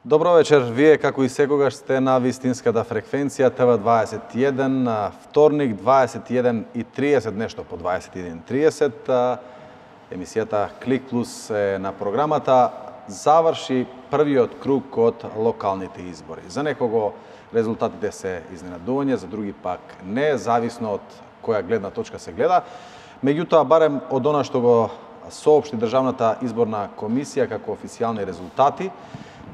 Добро вечер, вие како и секогаш сте на вистинската фреквенција ТВ21, вторник 21:30, нешто по 21:30. Емисијата Клик Плюс е на програмата. Заврши првиот круг од локалните избори. За некого резултатите се изненадување, за други пак не, зависно од која гледна точка се гледа. Меѓутоа, барем од она што го соопшти Државната изборна комисија како официјални резултати,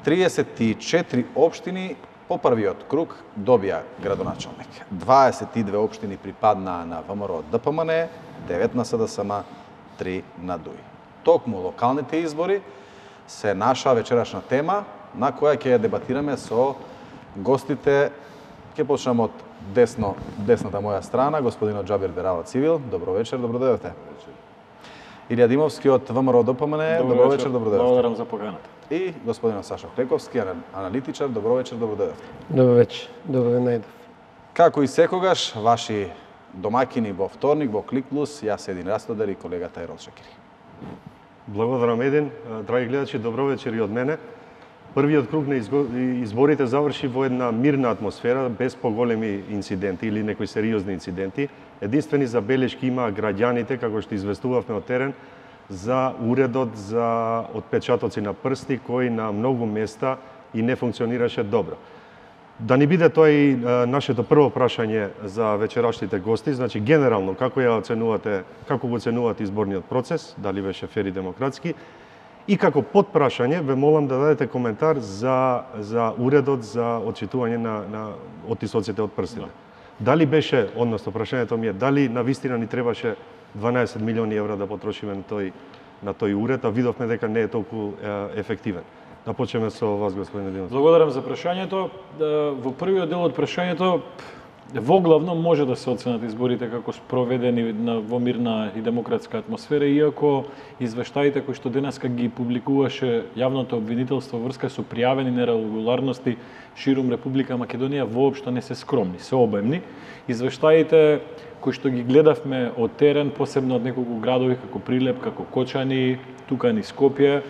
34 општини по првиот круг добија градоначалник. 22 општини припаднаа на ВМРО ДПМН, 9 на СДСМ, 3 на ДУИ. Токму локалните избори се наша вечерашна тема, на која ќе ја дебатираме со гостите. Ќе почнем од десната моја страна, господинот Џабир Дерава Цивил. Добро вечер, добро дојдовте. Илија Димовски од ВМРО ДПМН. Добро вечер, добро дојдовте. Благодарам за поканата. И господинот Сашо Клековски, аналитичар. Добро вечер, добро дојдовте. Добро вечер, добро најдов. Како и секогаш, ваши домакини во вторник во Клик Плюс, јас Един Растодер и колегата Ерол Шекери. Благодарам, Един. Драги гледачи, добро вечер и од мене. Првиот круг на изборите заврши во една мирна атмосфера, без поголеми инциденти или некои сериозни инциденти. Единствени забелешки имаа граѓаните, како што известувавме од терен, за уредот за отпечатоци на прсти, кој на многу места и не функционираше добро. Да ни биде тоа и нашето прво прашање за вечерашните гости, значи генерално како го оценувате изборниот процес, дали беше фер и демократски, и како подпрашање ве молам да дадете коментар за уредот за отчитување на оттисоците од прстите. Дали беше, односно прашањето ми е, дали навистина ни требаше 12 милиони евра да потрошиме на тој уред, а видовме дека не е толку ефективен. Да почнеме со вас, господин Димов. Благодарам за прашањето. Во првиот дел од прашањето, во главно може да се оценат изборите како спроведени во мирна и демократска атмосфера, иако извештаите кои што денеска ги публикуваше јавното обвинителство врска со пријавени нерегуларности ширум Република Македонија воопшто не се скромни, се обемни. Извештаите кои што ги гледавме од терен, посебно од неколку градови како Прилеп, како Кочани, тука низ Скопје,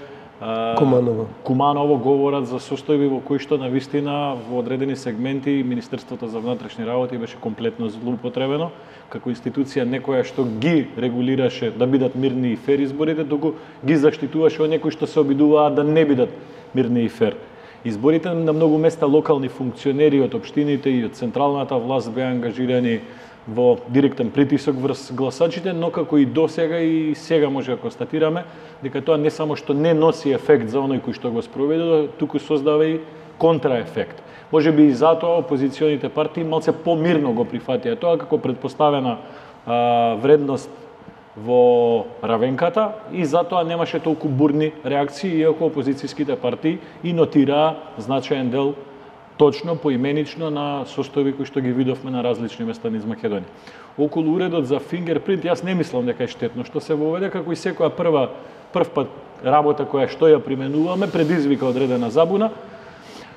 Куманово говорат за состојби во кои што навистина во одредени сегменти Министерството за внатрешни работи беше комплетно злоупотребено како институција некоја што ги регулираше да бидат мирни и фер изборите, туку ги заштитуваше од некои што се обидуваат да не бидат мирни и фер. Изборите на многу места локални функционери од општините и од централната власт беа ангажирани во директен притисок врз гласачите, но како и досега и сега може да констатираме дека тоа не само што не носи ефект за оној кој што го спроведе, туку создава и контраефект. Може би и затоа опозиционите партии малце помирно го прифатија тоа како предпоставена вредност во равенката и затоа немаше толку бурни реакции, иако опозицијските партии и нотираа значаен дел точно, поименично на состојби кои што ги видовме на различни места низ Македонија. Околу уредот за фингерпринт, јас не мислам дека е штетно што се воведе, како и секоја прв пат работа која што ја применуваме, предизвика одредена забуна.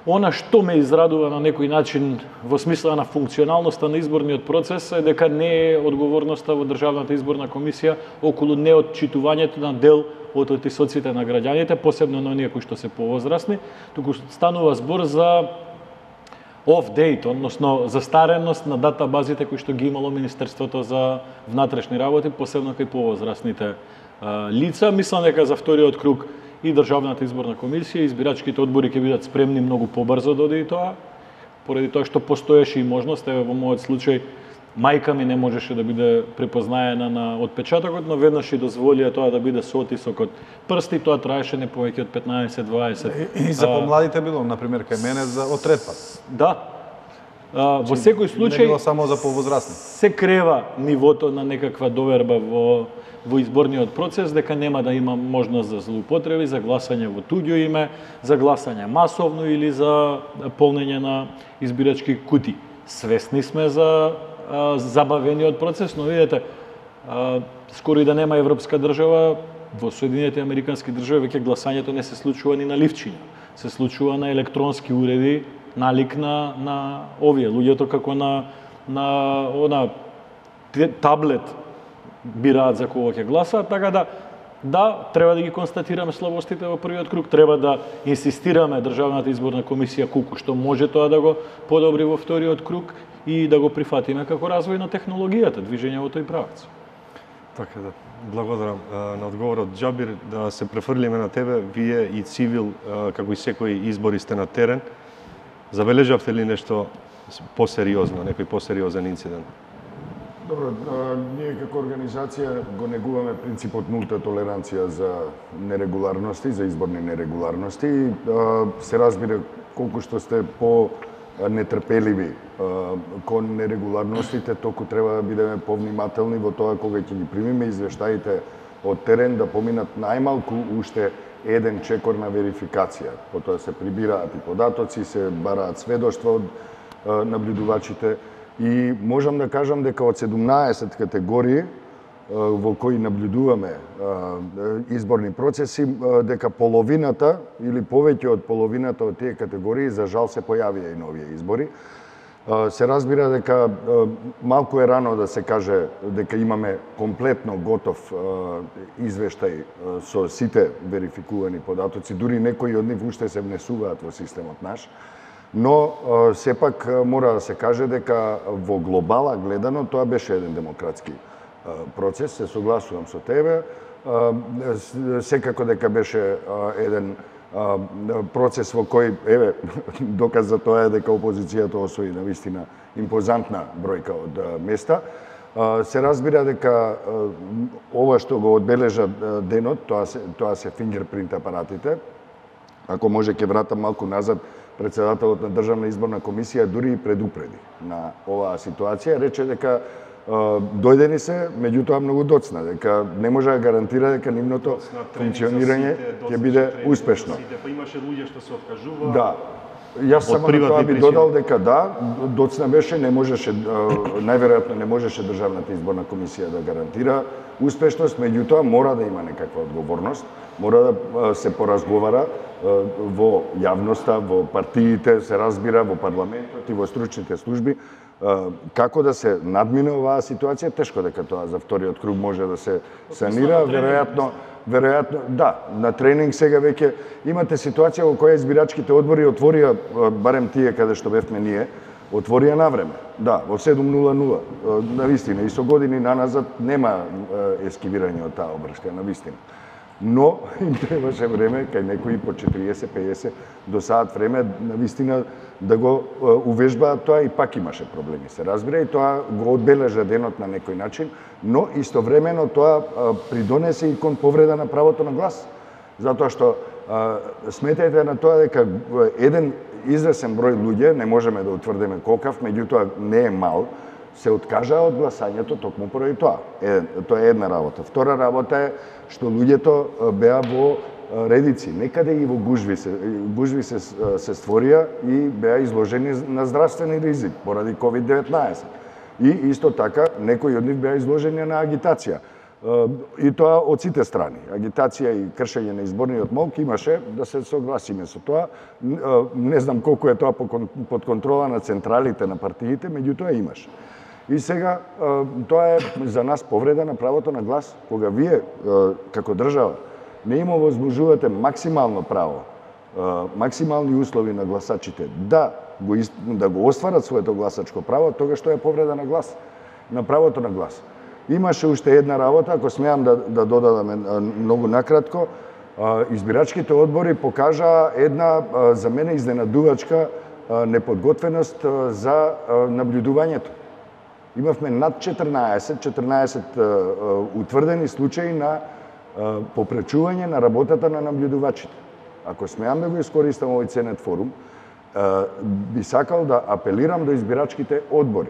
Она што ме израдува на некој начин во смисла на функционалноста на изборниот процес е дека не е одговорноста во Државната изборна комисија околу неотчитувањето на дел од оттисоците на граѓаните, посебно на оние кои што се повозрасни, туку станува збор за off-date, односно застареност на датабазите кои што ги имало Министерството за внатрешни работи, посебно кај повозрасните лица. Мислам дека за вториот круг и Државната изборна комисија, избирачките одбори ќе бидат спремни многу побрзо да оди тоа, поради тоа што постоеше и можност, во мојот случај, мајка ми не можеше да биде препознаена на отпечатокот, но веднаш и дозволија тоа да биде со отисок од прсти, тоа траеше не повеќе од 15-20. И за помладите било, например, кај мене од трет пат. Да. Во секој случај не било само за повозрасни. Се крева нивото на некаква доверба во изборниот процес, дека нема да има можност за злоупотреби, за гласање во туѓо име, за гласање масовно или за полнење на избирачки кутии. Свесни сме за забавениот процес, но видете, скоро и да нема европска држава, во Соединетите Американски држави веќе гласањето не се случува ни на ливчиња, се случува на електронски уреди, налик на овие луѓето како на таблет бираат за кого ќе гласаат, така да, треба да ги констатираме слабостите во првиот круг, треба да инсистираме Државната изборна комисија колку што може тоа да го подобри во вториот круг и да го прифатиме како развој на технологијата, движење во тој правец. Така да, благодарам на одговорот, Џабир, да се префрлиме на тебе. Вие и цивил, како и секој избори сте на терен. Забележавте ли нешто посериозно, некој посериозен инцидент? Добро, ние како организација го негуваме принципот нулта толеранција за нерегуларности, за изборни нерегуларности. Се разбира колку што сте нетрпеливи кон нерегуларностите, толку треба да бидеме повнимателни во тоа кога ќе ги примиме извештаите од терен да поминат најмалку уште еден чекор на верификација. Потоа се прибираат и податоци, се бараат сведоштва од наблюдувачите и можам да кажам дека од 17 категории во кои наблюдуваме изборни процеси, дека половината или повеќе од половината од тие категории за жал се појавија и на овие избори. Се разбира дека малку е рано да се каже дека имаме комплетно готов извештај со сите верификувани податоци, дури некои од нив уште се внесуваат во системот наш. Но сепак мора да се каже дека во глобала гледано тоа беше еден демократски процес, се согласувам со тебе. Секако дека беше еден процес во кој, еве, доказ за тоа е дека опозицијата освои навистина импозантна бројка од места. Се разбира дека ова што го одбележа денот, тоа се фингерпринт апаратите. Ако може ќе вратам малку назад, председателот на Државна изборна комисија дури и предупреди на оваа ситуација, рече дека дојдени се, меѓутоа многу доцна, дека не може да гарантира дека нивното функционирање ќе биде успешно. Па имаше луѓе што се откажуваа. Да. Јас само на тоа би додал дека да, доцна беше, не можеше, најверојатно не можеше Државната изборна комисија да гарантира успешност, меѓутоа мора да има некаква одговорност, мора да се поразговара во јавноста, во партиите, се разбира, во парламентот и во стручните служби, како да се надмине оваа ситуација. Тешко дека тоа за вториот круг може да се санира, веројатно, да, на тренинг сега веќе имате ситуација во која избирачките одбори отворија, барем тие каде што бевме ние, отворија навреме. Да, во 7:00, навистина, и со години наназад нема ескивирање од таа обршка, навистина. Но им требаше време, кај некои по 40-50 до саат време, навистина да го увежбаат тоа и пак имаше проблеми, се разбира, и тоа го одбележа денот на некој начин, но истовремено тоа придонесе и кон повреда на правото на глас. Затоа што сметајте на тоа дека еден извесен број луѓе, не можеме да утврдиме колкав, меѓутоа не е мал, се откажаа од гласањето токму поради тоа. Тоа е една работа. Втора работа е што луѓето беа во редици, некаде и во гужви се створија и беа изложени на здравствени ризик поради COVID-19. И исто така некои од нив беа изложени на агитација. И тоа од сите страни. Агитација и кршење на изборниот молк имаше, да се согласиме со тоа. Не знам колку е тоа под контрола на централите на партиите, меѓутоа имаше. И сега тоа е за нас повреда на правото на глас, кога вие како држава не им овозможувате максимално право, максимални услови на гласачите да го остварат своето гласачко право, тогаш тоа е повреда на глас, на правото на глас. Имаше уште една работа, ако смеам да додадам многу накратко, избирачките одбори покажаа една за мене изненадувачка неподготвеност за наблюдувањето. Имавме над 14 утврдени случаи на попречување на работата на наблюдувачите. Ако смеам да го искористам овој ценет форум, би сакал да апелирам до избирачките одбори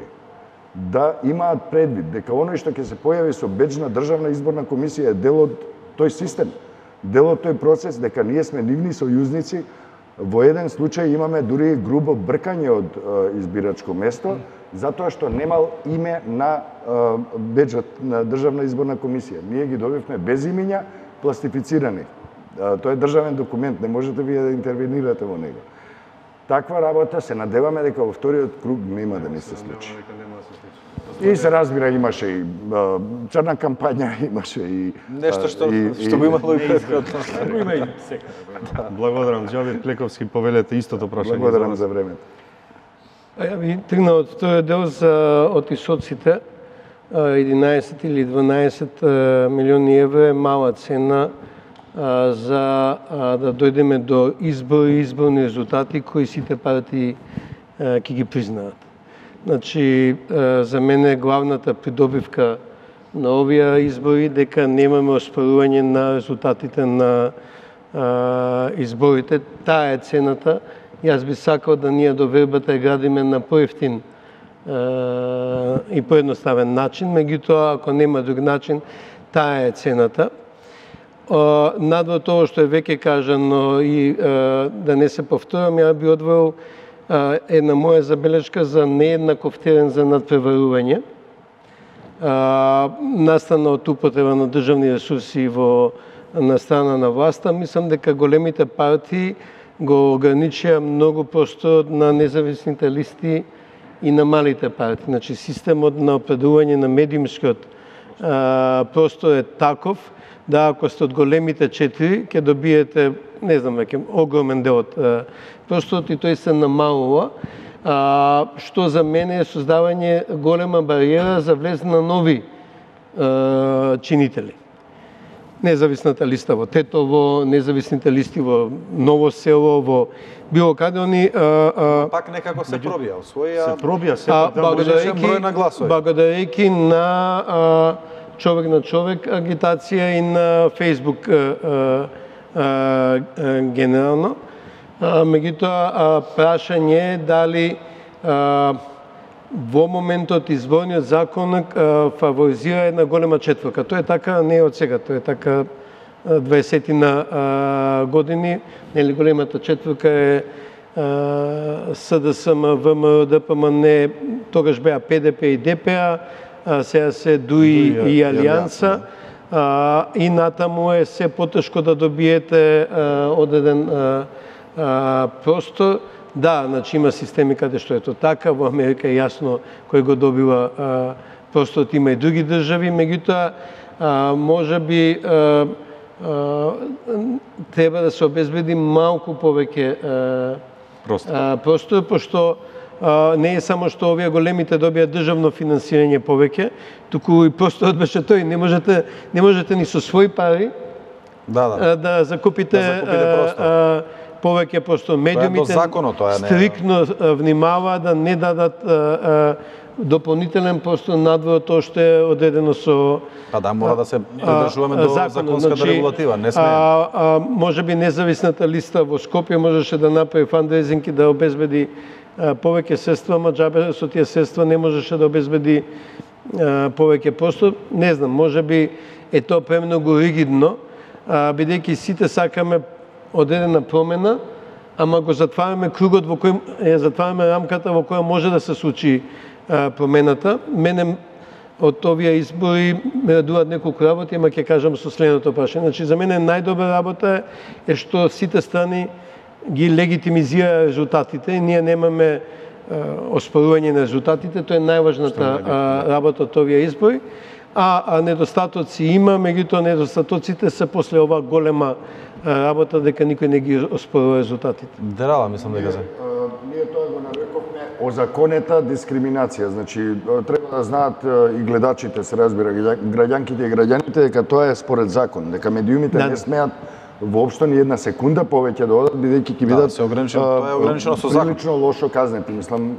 да имаат предвид дека оној што ќе се појави со бедж на Државна изборна комисија е дел од тој систем, дел од тој процес, дека ние сме нивни сојузници. Во еден случај имаме дури грубо бркање од избирачко место, затоа што немал име на беджот на Државна изборна комисија. Ние ги добивме без имиња пластифицирани. Тоа е државен документ, не можете вие да интервенирате во него. Таква работа се надеваме дека во вториот круг нема да не се случи. И се разбира, имаше и црна кампања, имаше и нешто што го имало и претходно. Го има и секаде. Благодарам, Џавид Клековски, повелете истото прашање. Благодарам за времето. Ја би тргнал од тој дел за отисоците. 11 или 12 милиони евро е мала цена за да дојдеме до изборни резултати кои сите партии ќе ги признаат. Значи, за мене главната придобивка на овие избори дека немаме оспорување на резултатите на изборите. Таа е цената. Јас би сакал да ние до вербата ја градиме на поевтин и поедноставен начин, меѓутоа ако нема друг начин, таа е цената. Надвор тоа што е веќе кажано и да не се повторам, ја би одвоил една моја забелешка за нееднаков терен за надпреварување. Настана од употреба на државни ресурси на страна на власта, мислам дека големите партии го ограничија многу просторот на независните листи и на малите партии. Значи, системот на определување на медиумскиот простор е таков да ако сте од големите 4, ќе добиете, не знам веќе, огромен дел од просторот и тој се намалува, што за мене е создавање голема бариера за влез на нови чинители. Независната листа во Тетово, независните листи во Ново село, во било каде они пак некако се пробија, освоија. Се пробија сепак да број на гласови. Благодарејќи на човек на човек агитација и на Фейсбук генерално. Меѓутоа, прашање е дали во моментот изборниот закон фаворизира една голема четворка. Тоа е така не од сега, тоа е така 20 години. Нели големата четворка е СДСМ, ВМРО, ДПМН, тогаш беа ПДП и ДПА, сега се ДУИ и Алијанса. И натаму е се потешко да добиете одреден простор. Да, значи има системи каде што е тоа така, во Америка е јасно кој го добива просторот, има и други држави, меѓутоа можеби треба да се обезбеди малку повеќе простор, пошто не е само што овие големите добијат државно финансирање повеќе, туку и просторот беше тој, не можете ни со своји пари да закупите простор. Повеќе простор. Медиумите стрикно внимава да не дадат дополнителен простор надвор тоа што е одредено со да, мора да се придржуваме до законската регулатива, не смееме. Можеби независната листа во Скопје можеше да направи фандрейзинг и да обезбеди повеќе средства, ама џабе со тие средства не можеше да обезбеди повеќе простор. Не знам, можеби е тоа премногу ригидно, бидејќи сите сакаме одредена промена, ама го затвараме кругот во кој затвараме рамката во која може да се случи промената. Мене од овие избори ме радуваат неколку работи, ама ќе кажам со следното прашање. Значи за мене најдобра работа е што сите страни ги легитимизира резултатите и ние немаме оспорување на резултатите, тоа е најважната работа од овие избори. А недостатоци има, меѓутоа недостатоците се после ова голема работа дека никој не ги оспорува резултатите. Драла, мислам дека се. Ние тоа го нарекувме озаконета дискриминација. Значи, треба да знаат и гледачите, се разбира, граѓанките и граѓаните, дека тоа е според закон, дека медиумите не смеат воопшто ни една секунда повеќе да одат, бидејќи ќе бидат тоа е ограничено со закон. Прилично лошо казнети, мислам,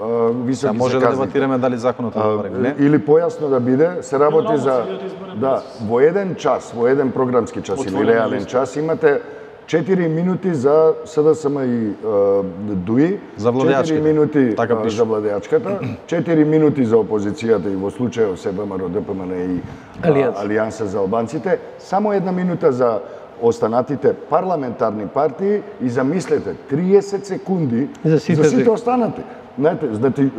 високи се може да дебатираме дали законот е добар или не. Или појасно да биде, се работи за во еден час, во еден програмски час или реален час имате 4 минути за СДСМ и ДУИ, 4 минути за владеачката, 4 минути за опозицијата и во случајот СБМР, ДПМН и Алијанса за албанците, само 1 минута за останатите парламентарни партии и замислете 30 секунди за сите останати. Знаете,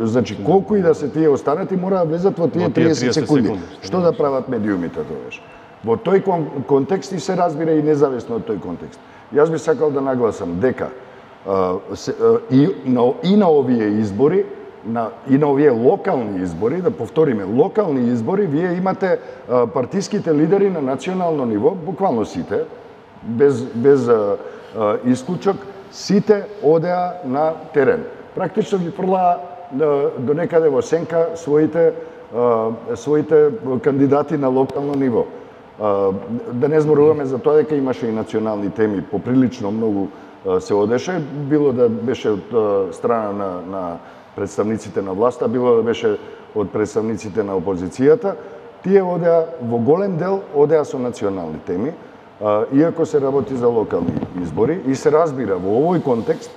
значи колку и да се тие останати мора да влезат во тие 30 секунди. Што да прават медиумите тогаш? Во тој контекст и се разбира и независно од тој контекст. Јас би сакал да нагласам дека и на овие избори, и на овие локални избори, да повториме, локални избори, вие имате партиските лидери на национално ниво, буквално сите, без исклучок, сите одеа на терен. Практично ги фрлаа до некаде во сенка своите кандидати на локално ниво. Да не зборуваме за тоа дека имаше и национални теми, поприлично многу се одеше, било да беше од страна на представниците на власта, било да беше од представниците на опозицијата, тие одеа во голем дел одеа со национални теми, иако се работи за локални избори и се разбира во овој контекст,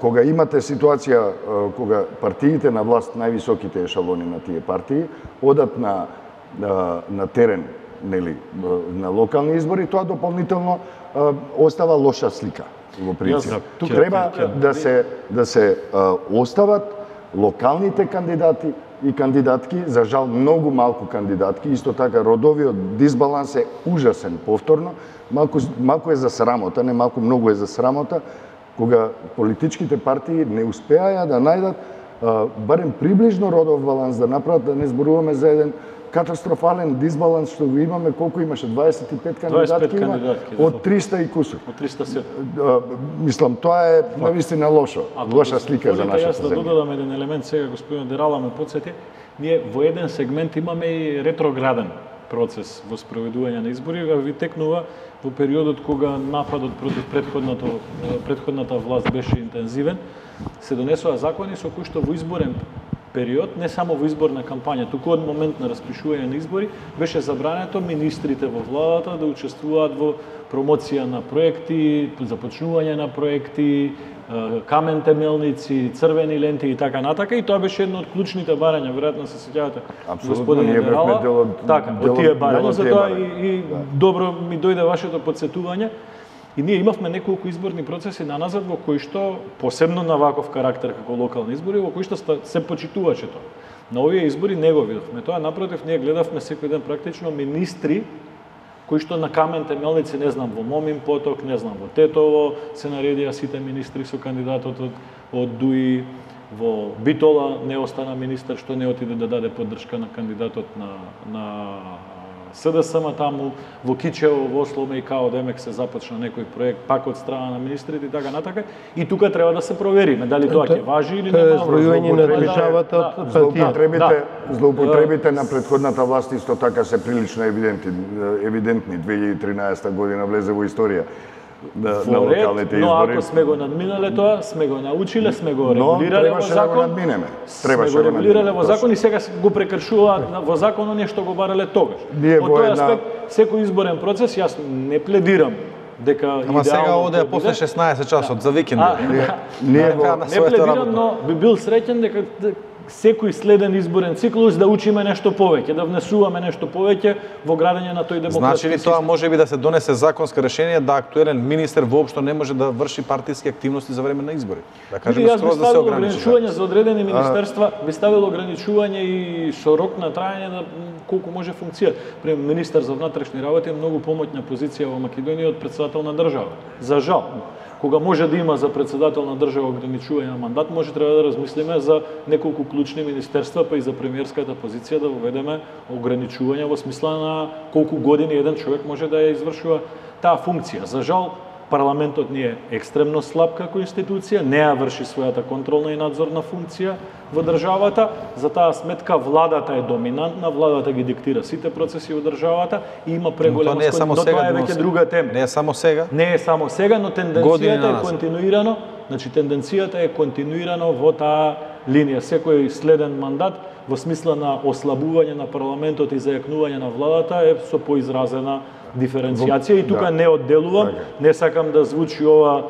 кога имате ситуација кога партиите на власт, највисоките ешалони на тие партии, одат на терен, нели, на локални избори, тоа дополнително остава лоша слика во принцип. Треба да се остават локалните кандидати и кандидатки, за жал многу малку кандидатки, исто така родовиот дисбаланс е ужасен повторно, малку е за срамота, не малку, многу е за срамота, кога политичките партии не успеаја да најдат барем приближно родов баланс, да направат, да не зборуваме за еден катастрофален дисбаланс што го имаме, колку имаше 25 кандидатки има од 300 и кусур. Од 307. Мислам, тоа е навистина лошо, лоша слика за нашата земја. Јас да додадам еден елемент сега, господин Дерала ме потсети, ние во еден сегмент имаме и ретрограден процес во спроведување на избори, ви текнува во периодот кога нападот против претходната власт беше интензивен, се донесоа закони со кои што во изборен период, не само во изборна кампања, туку од момент на распишување на избори, беше забрането министрите во владата да учествуваат во промоција на проекти, започнување на проекти, камен темелници, црвени ленти и така натака, и тоа беше едно од клучните барања, веројатно се сеќавате, господин Дерала. Така, од тие барања, затоа и добро ми дојде вашето потсетување. И ние имавме неколку изборни процеси наназад во кои што, посебно на ваков карактер како локални избори, во кои што се почитуваше тоа. На овие избори не го видовме тоа, напротив, ние гледавме секој ден практично министри кои што на камен темелници, не знам, во Момин поток, не знам, во Тетово, се наредија сите министри со кандидатот од ДУИ, во Битола не остана министер што не отиде да даде поддршка на кандидатот на СДСМ таму, во Кичево, во Осломе и као демек се започна некој проект пак од страна на министрите и така натака. И тука треба да се провериме дали тоа ќе важи или нема. Збројување на државата од партиите. Злоупотребите на претходната власт исто така се прилично евидентни. 2013 година влезе во историја на локалните избори. Но ако сме го надминале тоа, сме го научиле, сме го регулирале во закон. Сме го регулирале во закон и сега го прекршуваат во закон оние што го барале тогаш. Од тој аспект, секој изборен процес, јас не пледирам дека Ама сега одеа после 16 часот за викендот. Не пледирам, но би бил среќен дека секој следен изборен циклус да учиме нешто повеќе, да внесуваме нешто повеќе во градење на тој демократски систем. Значи ли тоа можеби да се донесе законско решение да актуелен министер воопшто не може да врши партиски активности за време на избори? Да кажеме скроз да се ограничи. Ограничување за одредени министерства, би ставило ограничување и со рок на траење на колку може функција. Пример, министер за внатрешни работи е многу помоќна позиција во Македонија од претседател на држава. За жал. Кога може да има за претседател на држава ограничување на мандат, може треба да размислиме за неколку клучни министерства, па и за премиерската позиција да воведеме ограничување во смисла на колку години еден човек може да ја извршува таа функција. За жал, парламентот ни е екстремно слаб како институција, не ја врши својата контролна и надзорна функција во државата, за таа сметка владата е доминантна, владата ги диктира сите процеси во државата и има преголема скоро, но тоа е веќе друга тема. Не е само сега? Не е само сега, но тенденцијата е континуирано, значи тенденцијата е континуирано во таа линија. Секој следен мандат во смисла на ослабување на парламентот и зајакнување на владата е со поизразена диференцијација и тука не одделувам, не сакам да звучи ова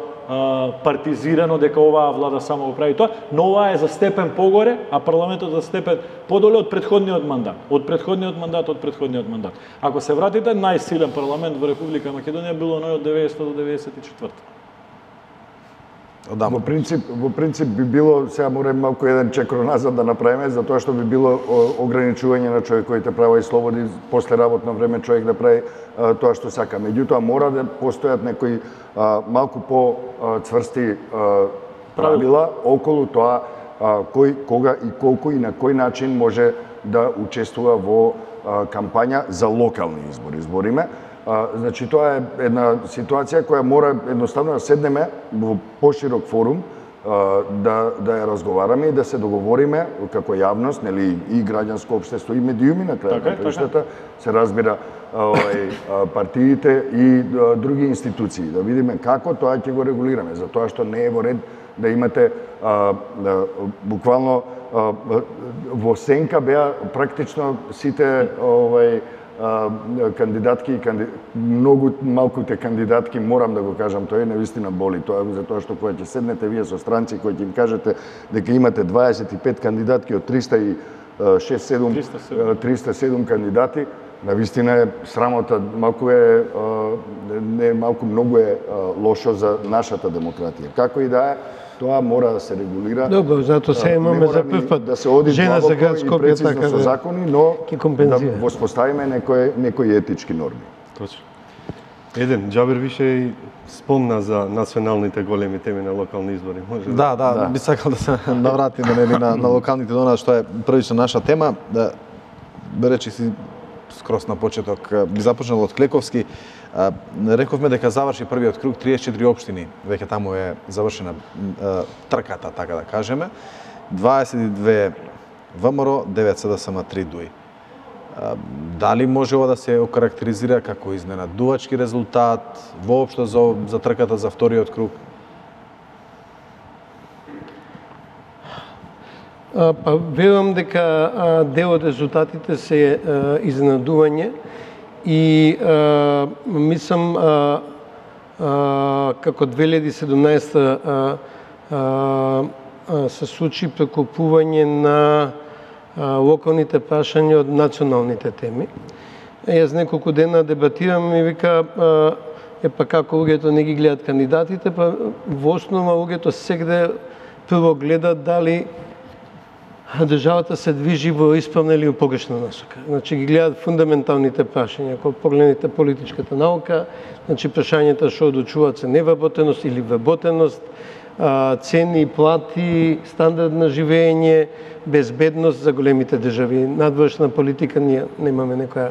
партизирано дека оваа влада само го прави тоа, но ова е за степен погоре, а парламентот за степен подоле од претходниот мандат. Од претходниот мандат. Ако се вратите, најсилен парламент во Република Македонија било оној од 90 до 94. одамна. Во принцип би било, сега морам малку еден чекор назад да направиме, затоа што би било ограничување на човековите права и слободи, после работно време човек да прави тоа што сака. Меѓутоа мора да постојат некои малку по-цврсти правила околу тоа кој, кога и колку и на кој начин може да учествува во кампања за локални избори. Збориме. Значи, тоа е една ситуација која мора едноставно да седнеме во поширок форум, да ја разговараме и да се договориме како јавност, нели, и граѓанско општество, и медиуми на крајот на краиштата, се разбира партиите и други институции, да видиме како тоа ќе го регулираме, затоа што не е во ред да имате буквално во сенка беа практично сите кандидатки и многу малкуте кандидатки, морам да го кажам, тоа е навистина боли, тоа затоа што кога ќе седнете вие со странци кои ќе им кажете дека имате 25 кандидатки од 307 кандидати, навистина е срамота, малку е не малку многу е лошо за нашата демократија. Како и да е, тоа мора да се регулира. Добро, затоа се имаме за прв пат да се оди жена за град и Скопје прецизно така со закони, но да воспоставиме некои етички норми. Точно. Еден Џабир више и спомна за националните големи теми на локални избори. Може Да, би сакал да се навратиме на локалните дона, што е првична наша тема. Речи си скрос на почеток, би започнал од Клековски. Рековме дека заврши првиот круг, 34 општини, веќе таму е завршена трката, така да кажеме. 22 ВМРО, 9 СДСМ, 3 ДУИ. Дали може ова да се окарактеризира како изненадувачки резултат воопшто за трката за вториот круг? Па верувам дека дел од резултатите се изненадување и мислам како 2017 се случи прекупување на локалните прашања од националните теми. Јас неколку дена дебатирам и вика па како луѓето не ги гледат кандидатите, па во основа луѓето сегде прво гледат дали државата се движи во исправна или во погрешна насока. Значи ги гледат фундаменталните прашања, ако погледнете политичката наука, значи прашањата што одлучуваат се невработеност или вработеност, цени, плати, стандард на живење, безбедност за големите држави. Надворешна политика, ние немаме некоја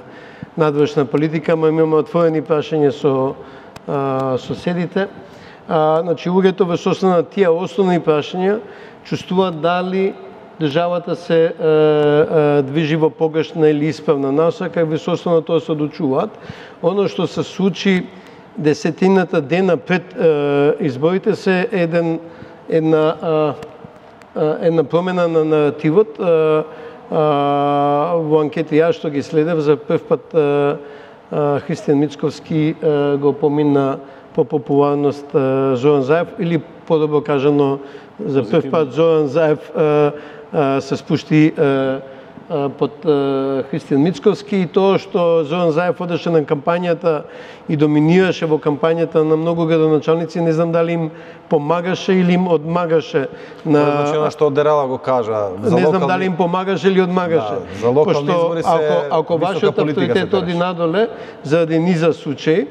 надворешна политика, ама имаме отворени прашања со соседите. Значи луѓето во основа на тие основни прашања чувствуваат дали државата се движи во погрешна или исправна насока и во основа на тоа се одлучуваат. Оно што се случи десетината дена пред изборите се една промена на наративот. Во анкети јас што ги следев за прв пат Христијан Мицковски го помина по популарност Зоран Заев, или подобро кажано за прв пат Зоран Заев се спушти под Христијан Мицковски и тоа што Зоран Заев одеше на кампањата и доминираше во кампањата на многу градоначалници, не знам дали им помагаше или им одмагаше на... Значи, што Дерала го кажа. Не знам дали им помагаше или одмагаше. Да, за локални избори се ако вашиот авторитет оди надоле, заради низа случаи,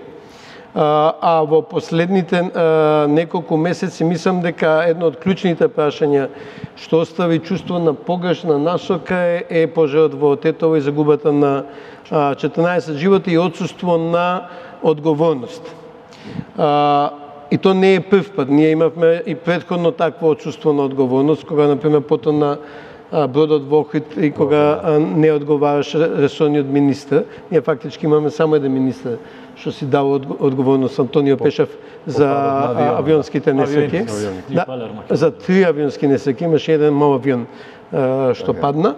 а во последните неколку месеци мислам дека едно од клучните прашања што остави чувство на погрешна насока е пожарот во Тетово и загубата на 14 животи и отсуство на одговорност. И то не е прв пат. Ние имавме и претходно такво отсуство на одговорност, кога, например, потоа на бродот во Охрид и кога не одговараше ресорниот министр. Ние фактички имаме само еден министр што си дал одговорност, Антонио Пешев, за авионските несреќи. Да, за 3 авионски несреќи, имаше еден мал авион што падна.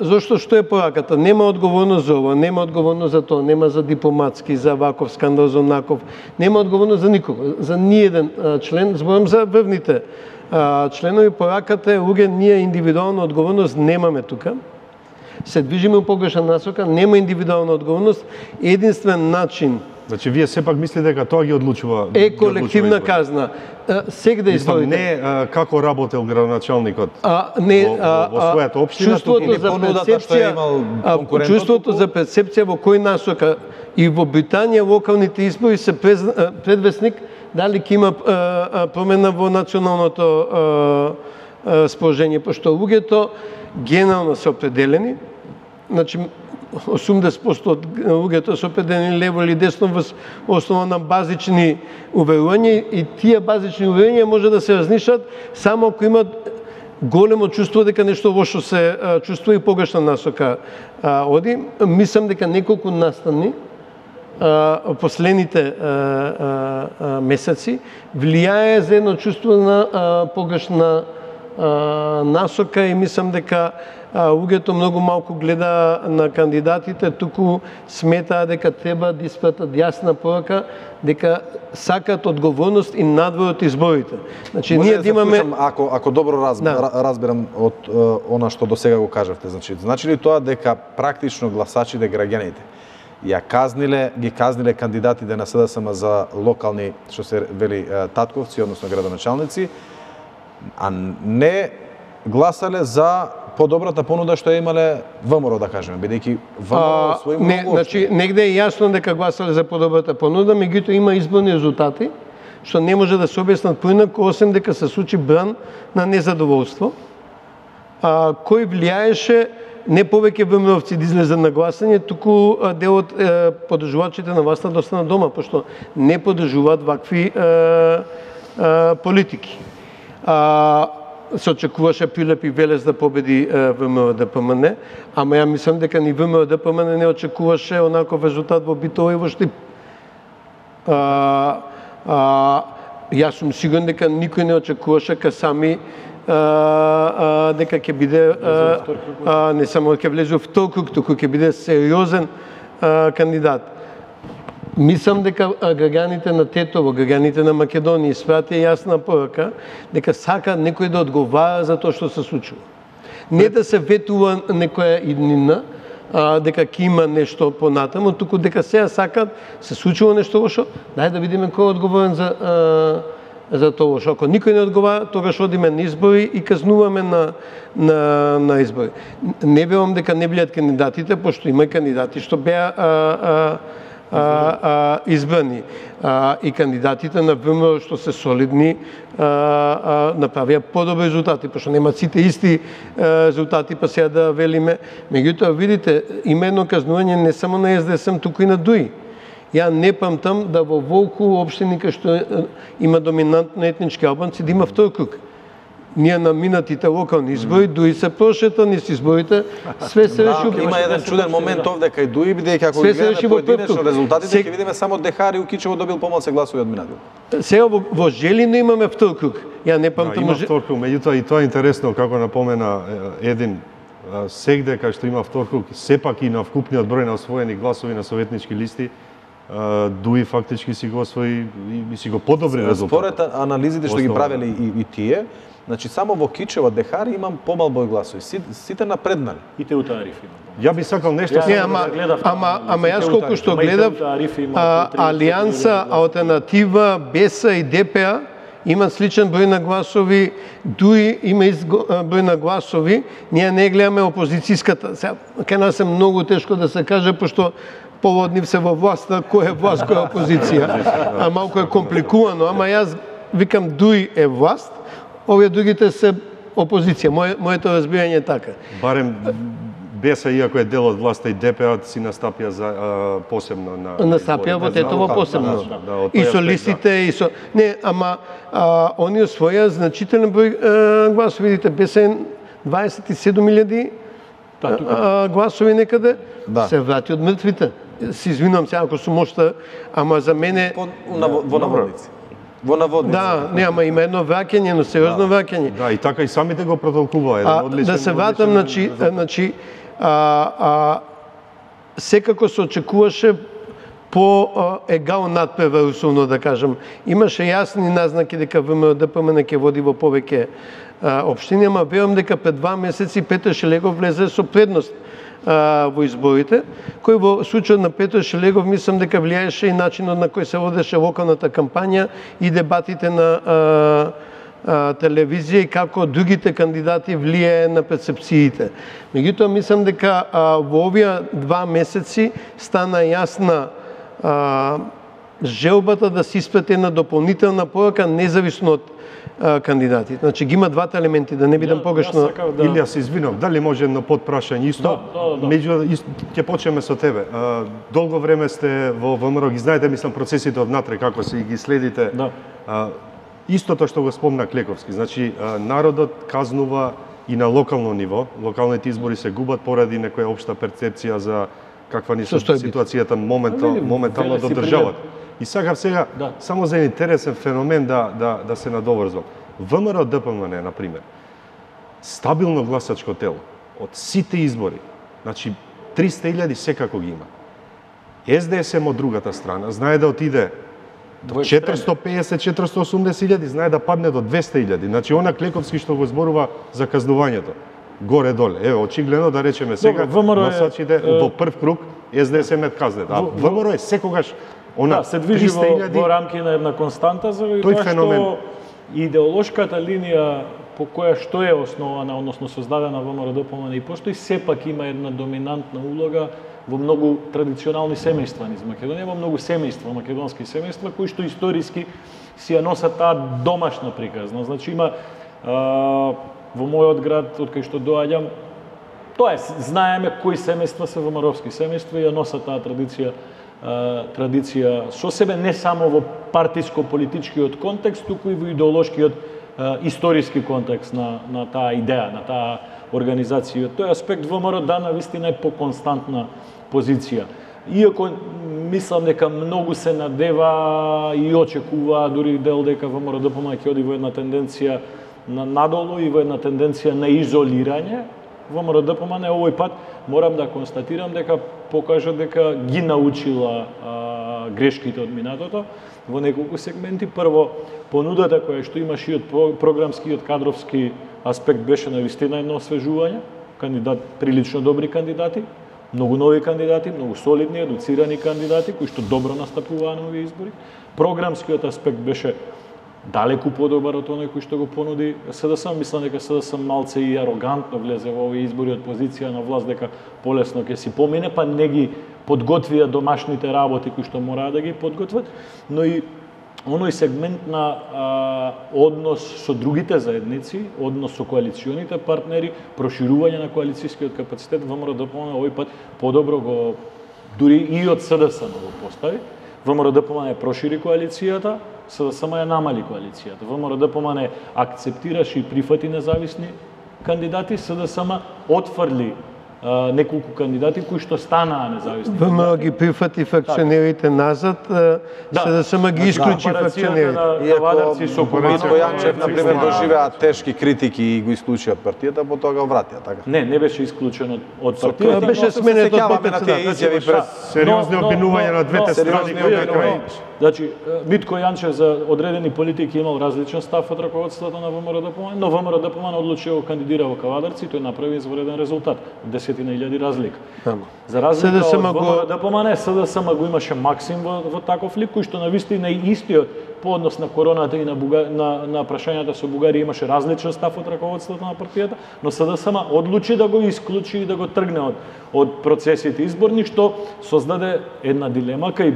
Зошто што е пораката? Нема одговорност за ова, нема одговорност за тоа, нема за дипломатски, за ваков скандал, за онаков. Нема одговорност за никого, за ниеден член, зборам за врвните членови. Пораката е, луѓе, ние индивидуална одговорност немаме тука. Се движиме во погрешна насока, нема индивидуална одговорност. Единствен начин Значи вие сепак мислите дека тоа ги одлучува колективна казна. Сега да изборите. Не како работел градоначалникот во својата општина, чувството за перцепција, чувството за перцепција во кој насока и во Британија локалните избори се предвесник дали ќе има промена во националното сположение, пошто луѓето генерално се определени, значи 80% од луѓето се определени лево или десно во основа на базични уверувања и тие базични уверувања може да се разнишат само ако имат големо чувство дека нешто лошо се чувствува и погрешна насока оди. Мислам дека неколку настани последните месеци влијае за едно чувство на погрешна насока и мислам дека луѓето многу малку гледа на кандидатите, туку сметаа дека треба да испратат јасна порака дека сакаат одговорност и надвор од изборите. Значи ние да имаме ако добро разберам од она што досега го кажавте, значи ли тоа дека практично гласачите, граѓаните ги казниле кандидатите на СДСМ за локални, што се вели татковци, односно градоначалници, а не гласале за подобрата понуда што имале ВМРО, да кажеме, бидејќи ВМРО свој многу... Значи, негде е јасно дека гласале за подобрата понуда, меѓутоа има изборни резултати, што не може да се објаснат поинаку, освен дека се случи бран на незадоволство, кој влијаеше не повеќе ВМРО-овци да излезат на гласање, туку дел од поддржувачите на власта да останат дома, пошто не поддржуваат вакви политики. Се очекуваше Пилеп и Велес да победи ВМРО-ДПМН, ама ја мислам дека ни ВМРО-ДПМН не очекуваше онаков резултат во Битола и во Штип. Јас сум сигурен дека никој не очекуваше ка сами дека ќе биде не само ќе влезе во втор круг, туку ќе биде сериозен кандидат. Мислам дека граѓаните на Тетово, граѓаните на Македонија испратија јасна порака дека сакаат некој да одговара за тоа што се случува. Не да се ветува некоја иднина, дека ќе има нешто понатаму, туку дека сега сакаат, се случува нешто лошо, дај да видиме кој е одговорен за тоа лошо. Ако никој не одговара, тогаш одиме на избори и казнуваме на избори. Не верувам дека не билат кандидатите, пошто има кандидати што беа избрани и кандидатите на ВМРО што се солидни направија подобри резултати, пошто нема сите исти резултати, па сега да велиме. Меѓутоа, видите, има едно казнување не само на СДСМ, туку и на ДУИ. Ја не памтам да во Волку општини кај што има доминантно етнички албанци да има втор круг. Ние на минатите локални избори, ДУИ се прошета низ изборите, све се реши. Има еден чуден момент овде кај ДУИ, бидејќи ако ги гледаме поединечно резултатите, ќе видиме само Дехари Укичево добил помалку гласови од минатиот. Сега во Желино имаме втор круг. Ја не памтам. Има втор круг, меѓутоа и тоа е интересно како напомена Един, сегде кај што има втор круг, сепак и на вкупниот број на освоени гласови на советнички листи, ДУИ фактички си го освои и си го подобри резултат. Според анализите што ги правеле и тие, значи само во Кичево, Дехари имам помал број гласови. Сите напреднали. И Теутариф има. Ја би сакал нешто ама јас колку што гледав, Алијанса, Алтернатива, БЕСА и ДПА имат сличен број на гласови, ДУИ има број на гласови, ние не гледаме опозицијската. Сега, кај нас е многу тешко да се каже, пошто поводнив се во власта, кој е власт, кој е опозиција. Малку е компликувано, ама јас викам ДУИ е власт, овие другите се опозиција. Моето разбирање е така. Барем БЕСА, иако е дел од власта и ДПА, си настапија за посебно на... Настапија во Тетово посебно. И со листите, и со... Не, ама они освоја значителен број гласови. Видите, БЕСА 27.000 гласови некаде, се врати од мртвите. Се извинувам сега ако сум ошта, ама за мене... Во наводници. Во наводници. Да, не, ама има едно враќање, но сериозно враќање. Да, и така и самите го протолкува еден одличен. Да се вратам, значи, секако се очекуваше по егал надпревар, условно да кажам. Имаше јасни назнаки дека ВМРО-ДПМН ќе води во повеќе општини, ама верувам дека пред 2 месеци Петар Шелегов влезе со предност во изборите, кој во случајот на Петро Шелегов мислам дека влијаеше и начинот на кој се водеше локалната кампања и дебатите на телевизија и како другите кандидати влијае на перцепциите. Меѓутоа мислам дека во овие 2 месеци стана јасна желбата да се испрати една дополнителна порака независно од кандидатите. Значи ги има двата елементи, да не бидам погрешно. Илија, се извинувам, дали може едно подпрашање исто? Меѓу ќе почнеме со тебе. Долго време сте во ВМРО, ги знаете, мислам, процесите однатре како се ги следите. Истото што го спомна Клековски, значи народот казнува и на локално ниво, локалните избори се губат поради некоја општа перцепција за каква ни ситуацијата моментално до државата. И сакав сега само за интересен феномен да се надоврзвам. ВМРО ДПМН, на пример, стабилно гласачко тело од сите избори, значи 300.000 секако ги има. СДСМ од другата страна знае да отиде до 450-480.000, знае да падне до 200.000. Значи она Клековски што го зборува за казнувањето. Горе-доле. Еве, очигледно да речеме сега, гласачите во прв круг СДСМ казнет. А ВМРО е секогаш се движи во рамки на една константа, заради тоа што идеолошката линија по која што е основана, односно создадена ВМРО ДПМН и постои, сепак има една доминантна улога во многу традиционални семејства низ Македонија, во многу семејства, македонски семејства, кои што историски си ја носат таа домашна приказна. Значи има во мојот град, од кај што доаѓам, тоа е, знаеме кои семејства се ВМРО-вски семејства и ја носат таа традиција со себе, не само во партиско-политичкиот контекст, туку и во идеолошкиот историски контекст на таа идеја, на таа организација. Тој аспект ВМРО дана вистина е по константна позиција. Иако мислам дека многу се надева и очекува дури дел дека ВМРО ДПМН ќе оди во една тенденција надолу и во една тенденција на изолирање, ВМРО ДПМН овој пат морам да констатирам дека покажа дека ги научила грешките од минатото во неколку сегменти. Прво, понудата која што имаше и од програмски и од кадровски аспект беше навистина едно освежување, прилично добри кандидати, многу нови кандидати, многу солидни, едуцирани кандидати кои што добро настапуваа на овие избори. Програмскиот аспект беше далеку подобар од оној кој што го понуди СДСМ. Мислам дека СДСМ малце и арогантно влезе во овие избори од позиција на власт дека полесно ќе си помине, па не ги подготвија домашните работи кои што мораа да ги подготват, но и оној сегмент на однос со другите заедници, однос со коалиционите партнери, проширување на коалицијскиот капацитет, ВМРО ДПМН овој пат подобро го, дури и од СДСМ го постави. ВМРО ДПМН прошири коалицијата, СДСМ ја намали коалицијата. ВМРО ДПМН акцептираше и прифати независни кандидати, СДСМ отфрли неколку кандидати кои што станаа независни. ВМРО ги прифати факционерите назад, СДСМ ги исклучи факционерите. Иако Митко Јанчев, например, доживеа тешки критики и го исклучи од партијата, потоа го вратија, така? Не беше исклучен од партијата. Беше сменет од председател. Сериозни обвинувања на двете страни. Значи, Митко Јанчев за одредени политики имал различен став од раководството на ВМРО ДПМН, но ВМРО ДПМН одлучи го кандидира во Кавадарци и тој направи извреден резултат. Десетина илјади разлика. За разлика од ВМРО ДПМН, СДСМ го имаше Максим во таков лик, кој што навистина и истиот по однос на короната и на прашањата со Бугарија имаше различен став од раководството на партијата, но СДСМ одлучи да го исклучи и да го тргне од процесите изборни, што создаде една дилема кај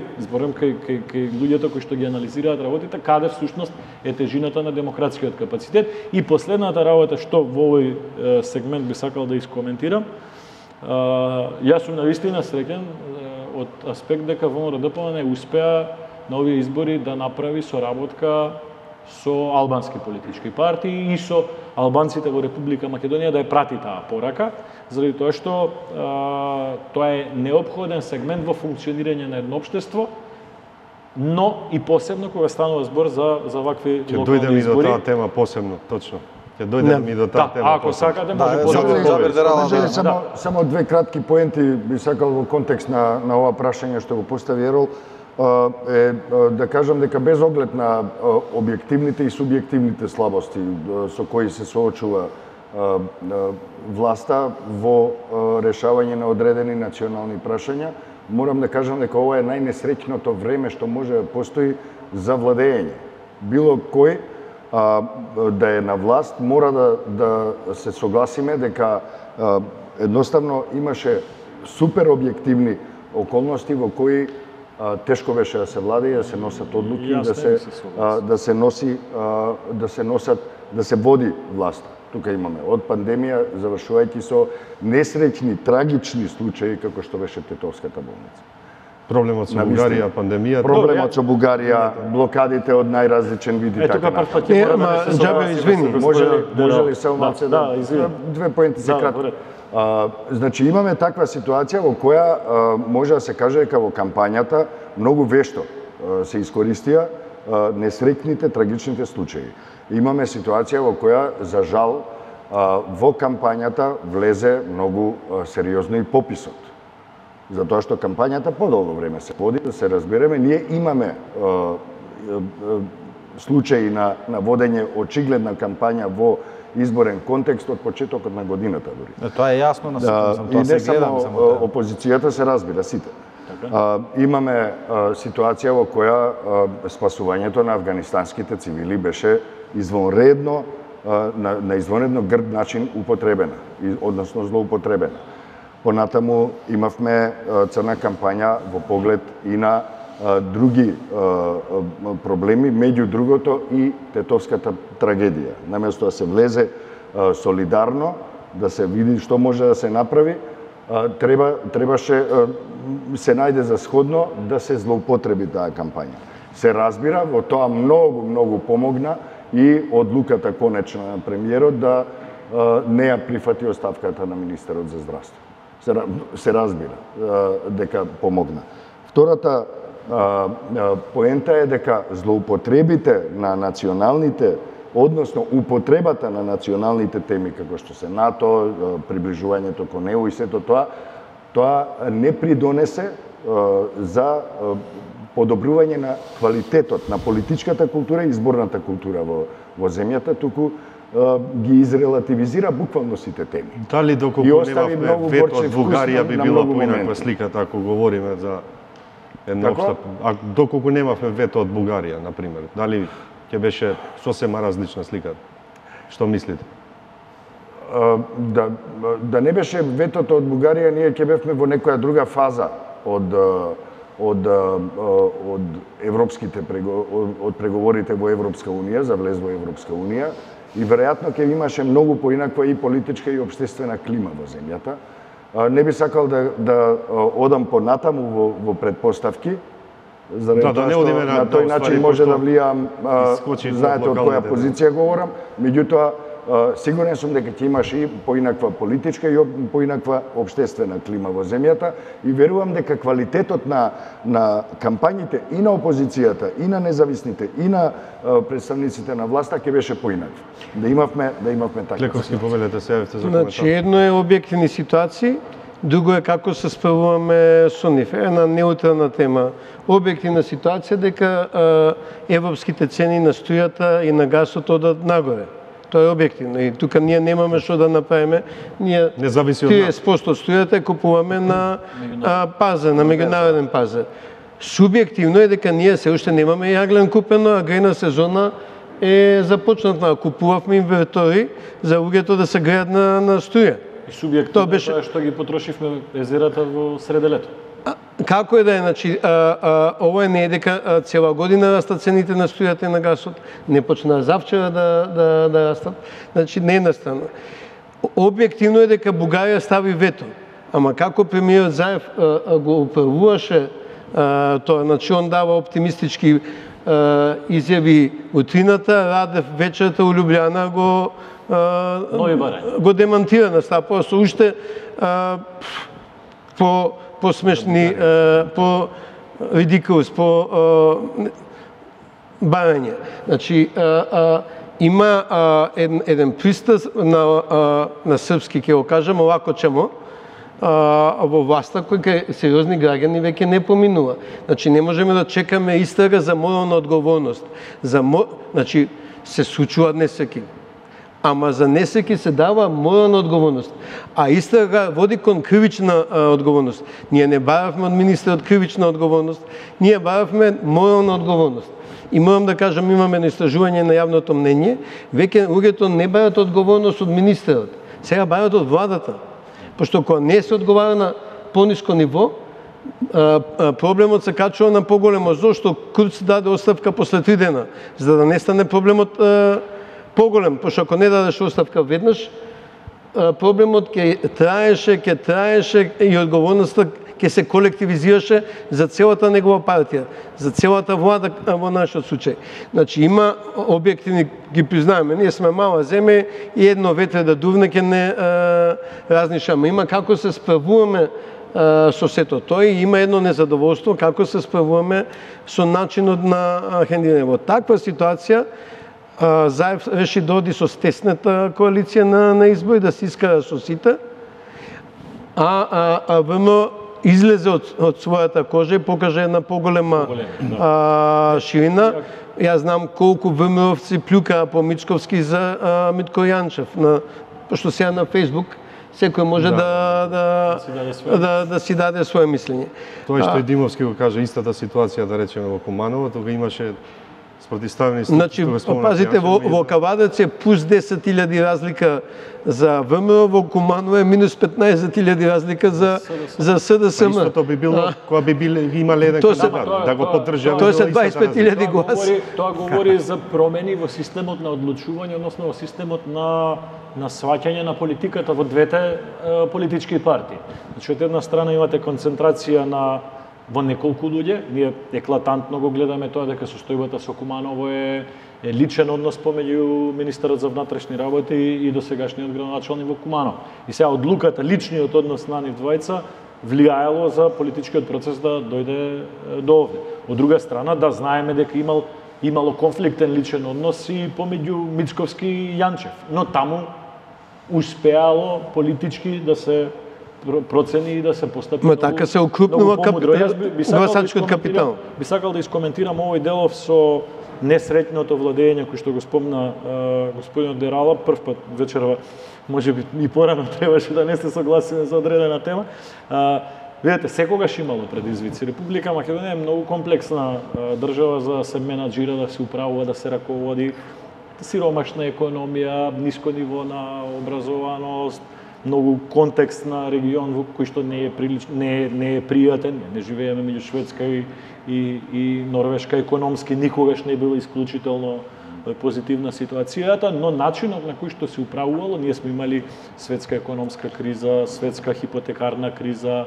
луѓето кои што ги анализираат работите, каде всушност е тежината на демократскиот капацитет. И последната работа што во овој сегмент би сакал да искоментирам, јас сум навистина среќен од аспект дека ВМРО ДПМН успеа на овие избори да направи соработка со албански политички партии и со албанците во Република Македонија да ја прати таа порака, заради тоа што тоа е неопходен сегмент во функционирање на едно општество, но и посебно кога станува збор за вакви локални избори. Ќе дојдеме и до таа тема посебно, точно. Ќе дојдеме и до таа тема. Ако сакате, може само две кратки поенти би сакал во контекст на ова прашање што го постави Ерол, да кажам дека без оглед на објективните и субјективните слабости со кои се соочува власта во решавање на одредени национални прашања. Морам да кажам дека ова е најнесреќното време што може да постои за владење. Било кој да е на власт, мора да се согласиме дека едноставно имаше супер објективни околности во кои тешко беше да се владее, да се носат одлуки и да се води власта. Тука имаме од пандемија, завршувајќи со несреќни, трагични случаи како што беше Тетовската болница. Проблемот со Бугарија, пандемијата. Проблемот со Бугарија, блокадите од најразличен вид и така натаму. Може ли само малце две поенти за кратко? Значи имаме таква ситуација во која може да се каже дека во кампањата многу вешто се искористија несреќните, трагичните случаи. Имаме ситуација во која, за жал, во кампањата влезе многу сериозно и пописот. Затоа што кампањата подолго време се води, да се разбереме, ние имаме случаи на водење очигледна кампања во изборен контекст од почетокот на годината дури. Тоа е јасно, и не само опозицијата, се разбира сите. Имаме ситуација во која спасувањето на афганистанските цивили беше извонредно, на извонредно грд начин употребена, односно злоупотребена. Понатаму имавме црна кампања во поглед и на други проблеми, меѓу другото и Тетовската трагедија. Наместо да се влезе солидарно, да се види што може да се направи, требаше се најде за сходно да се злоупотреби таа кампања. Се разбира, во тоа многу помогна и одлуката конечна на премиерот да не ја прифати оставката на министерот за здравство. Се разбира дека помогна. Втората поента е дека злоупотребите на националните, односно употребата на националните теми како што се НАТО, приближувањето кон ЕУ и сето тоа не придонесе за подобрување на квалитетот на политичката култура и изборната култура во земјата, туку ги изрелативизира буквално сите теми. Дали доколку немавме вето од Бугарија би била поинаква сликата ако говориме за една општа... Доколку немавме вето од Бугарија, например, дали ќе беше сосема различна сликата? Што мислите? Да не беше ветото од Бугарија, ние ќе бевме во некоја друга фаза од европските од преговорите во Европска унија, за влез во Европска унија, и веројатно ќе имаше многу поинаква и политичка и општествена клима во земјата. Не би сакал да одам понатаму во предпоставки, заради тоа што на тој начин може да влијам, знаете од која позиција говорам, меѓутоа сигурен сум дека ќе имаш и поинаква политичка и поинаква општествена клима во земјата и верувам дека квалитетот на кампањите и на опозицијата, и на независните, и на представниците на власта ќе беше поинаква. Да имавме така. Лековски, повелете се, јавите за коментар. Значи, едно е објективни ситуации, друго е како се справуваме со нив. Една неутрална тема. Објективна ситуација дека европските цени на струјата и на гасот одат нагоре. Тоа е објективно и тука ние немаме што да направиме. Ние 30% струјата купуваме на пазар, на меѓународен пазар. Субјективно е дека ние се уште немаме јаглен купено, а грејна сезона е започната. Купувавме инвертори за луѓето да се греат на струја. И субјективно беше тоа што ги потрошивме езерата во среде лето. Како е да е, значи, ова не е дека цела година растат цените на струјата и на гасот, не почна завчера да растат, значи не е настанно. Објективно е дека Бугарија стави вето, ама како премиерот Заев го управуваше тоа, значи он дава оптимистички изјави утрината, Радев вечерта у Љубљана го демантира на стапова со уште по-смешни, по-ридикулс, по-барање. Значи, има еден пристас на српски, ќе го кажам, овако чамо, во власта кој сериозни граѓани веќе не поминува. Значи, не можеме да чекаме истрага за морална одговорност. Значи, се случуваат несреќи. ама за несреќи се дава морална одговорност. А истрага води кон кривична одговорност. Ние не баравме од министерот кривична одговорност, ние баравме морална одговорност. И морам да кажам, имаме едно истражување на јавното мнение, веќе луѓето не барат одговорност од министерот, сега барат од владата. Пошто кога не се одговара на пониско ниво, проблемот се качува на поголемо. Зошто Курц даде оставка после 3 дена, за да не стане проблемот поголем, пошто ако не дадеш оставка веднаш, проблемот ќе траеше и одговорноста ќе се колективизираше за целата негова партија, за целата влада во нашиот случај. Значи има објективни, ги признаеме, ние сме мала земја и едно ветре да дувне ќе не разнишаме. Има како се справуваме со сето тој, има едно незадоволство како се справуваме со начинот на хендирање. Во таква ситуација Заев реши да оди со стесната коалиција на избори, да се искара со сите, а ВМО излезе од својата кожа и покаже една поголема ширина. Јас знам колку ВМОвци плюкаа по Мичковски за Митко Јанчев, пошто сега на Фејсбук секој може да си даде своје мислење. Тоа што и Димовски го кажа, истата ситуација, да речеме, во Куманово, тога имаше спротивставени... Значи, пазите, во Кавадец е плюс 10.000 разлика за ВМРО, во Куманово е минус 15.000 разлика за СДСМ. Истото би било, кога би имале еден кандидат, да го поддржава. Тоа се 25.000 гласи. Тоа говори за промени во системот на одлучување, односно во системот на сваќање на политиката во двете политички партии. Значи, од една страна имате концентрација во неколку луѓе, ние еклатантно го гледаме тоа дека состојбата со Куманово е личен однос помеѓу министерот за внатрешни работи и досегашниот градоначалник во Куманово. И сега одлуката, личниот однос на нив двајца влијаело за политичкиот процес да дојде до овде. Од друга страна, да знаеме дека имало конфликтен личен однос и помеѓу Мицковски и Јанчев, но таму успеало политички да се процени и да се постапи. Но така се укрупнува гласачкиот капитал. Би сакал да искоментирам овој делов со несреќното владење кој што го спомна господинот Дерала прв пат вечерва, можеби и порано требаше да не се согласиме за одредена тема. Видете, секогаш имало предизвици. Република Македонија е многу комплексна држава за да се менаџира, да се управува, да се раководи, сиромашна економија, ниско ниво на образованост, многу контекст на регион во кој што не е пријатен, не живееме меѓу Шведска и Норвешка економски, никогаш не била исклучително позитивна ситуацијата, но начинот на кој што се управувало, ние сме имали светска економска криза, светска хипотекарна криза,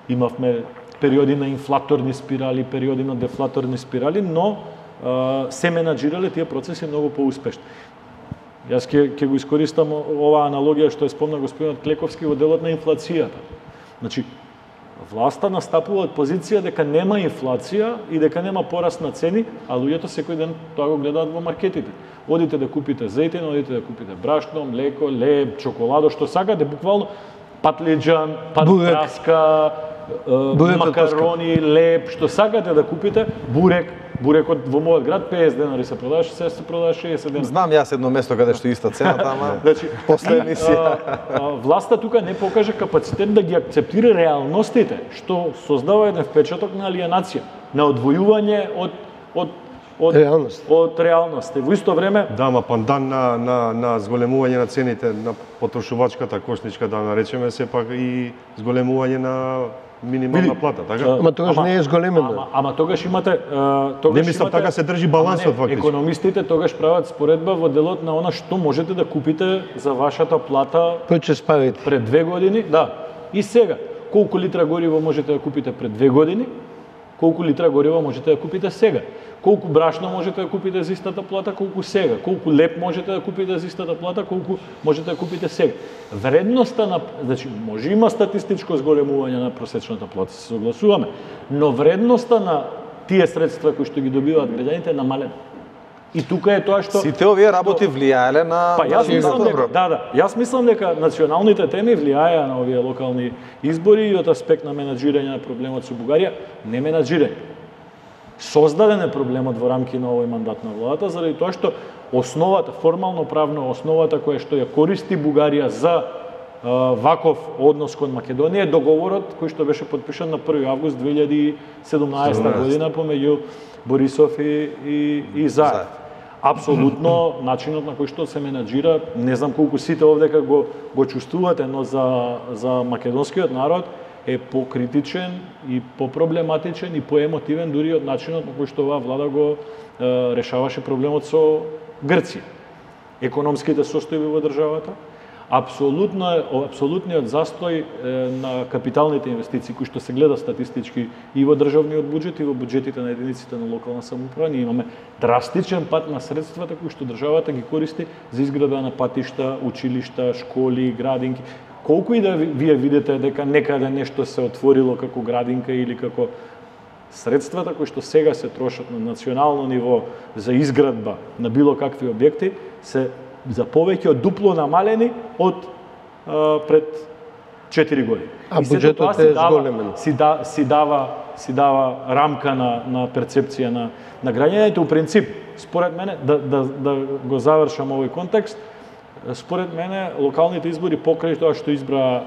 имавме периоди на инфлаторни спирали, периоди на дефлаторни спирали, но се менаџирале тие процеси многу поуспешно. Јас ќе го искористам оваа аналогија што е спомна господинот Клековски во делот на инфлацијата. Значи, власта настапува од позиција дека нема инфлација и дека нема пораст на цени, а луѓето секој ден тоа го гледаат во маркетите. Одите да купите зејтин, одите да купите брашно, млеко, леб, чоколадо, што сакате, буквално патлиџан, патраска, макарони, леб, што сакате да купите, бурекот во мојот град 50 денари се продаваше, сега се продаваше 60 денари. Знам јас едно место каде што иста цената, ама после емисија. Власта тука не покажа капацитет да ги акцептира реалностите, што создава еден впечаток на алиенација, на одвојување од реалност. Во исто време... Да, ама пандан на зголемување на цените на потрошувачката кошничка, да наречеме, сепак и зголемување на минимална плата, така? Ама тогаш не е зголемено. Ама тогаш имате... Не мислам, така се држи балансот фактично. Економистите тогаш прават споредба во делот на она што можете да купите за вашата плата пред 2 години, да. И сега, колку литра гориво можете да купите пред 2 години, колку литра гориво можете да купите сега. Колку брашно можете да купите за истата плата, колку сега. Колку леп можете да купите за истата плата, колку можете да купите сега. Вредноста на... Значи, може има статистичко зголемување на просечната плата, се согласуваме, но вредноста на тие средства кои што ги добиваат граѓаните е намалена. И тука е тоа што... Сите овие работи влијаеле на... Па јас мислам дека, јас мислам дека националните теми влијаеа на овие локални избори и од аспект на менаџирање на проблемот со Бугарија, не менаџирање. Создаден е проблемот во рамки на овој мандат на владата, заради тоа што основата, формално правно основата која што ја користи Бугарија за ваков однос кон Македонија е договорот кој што беше подпишан на 1 август 2017 година помеѓу Борисов и Заев. Апсолутно начинот на кој што се менаџира, не знам колку сите овдека го чувствувате, но за македонскиот народ е покритичен и попроблематичен и поемотивен дури од начинот на кој што оваа влада го решаваше проблемот со Грција. Економските состојби во државата, апсолутниот застој на капиталните инвестиции кои што се гледа статистички и во државниот буџет и во буџетите на единиците на локална самоуправа. Ние имаме драстичен пат на средствата кои што државата ги користи за изградба на патишта, училишта, школи, градинки. Колку и да вие видите дека некаде нешто се отворило како градинка или како средствата кои што сега се трошат на национално ниво за изградба на било какви објекти се за повеќе од дупло намалени од пред 4 години. А буџетот е зголемен. Си дава рамка на перцепција на граѓаните. У принцип, според мене, да го завршам овој контекст, според мене локалните избори покрај тоа што избра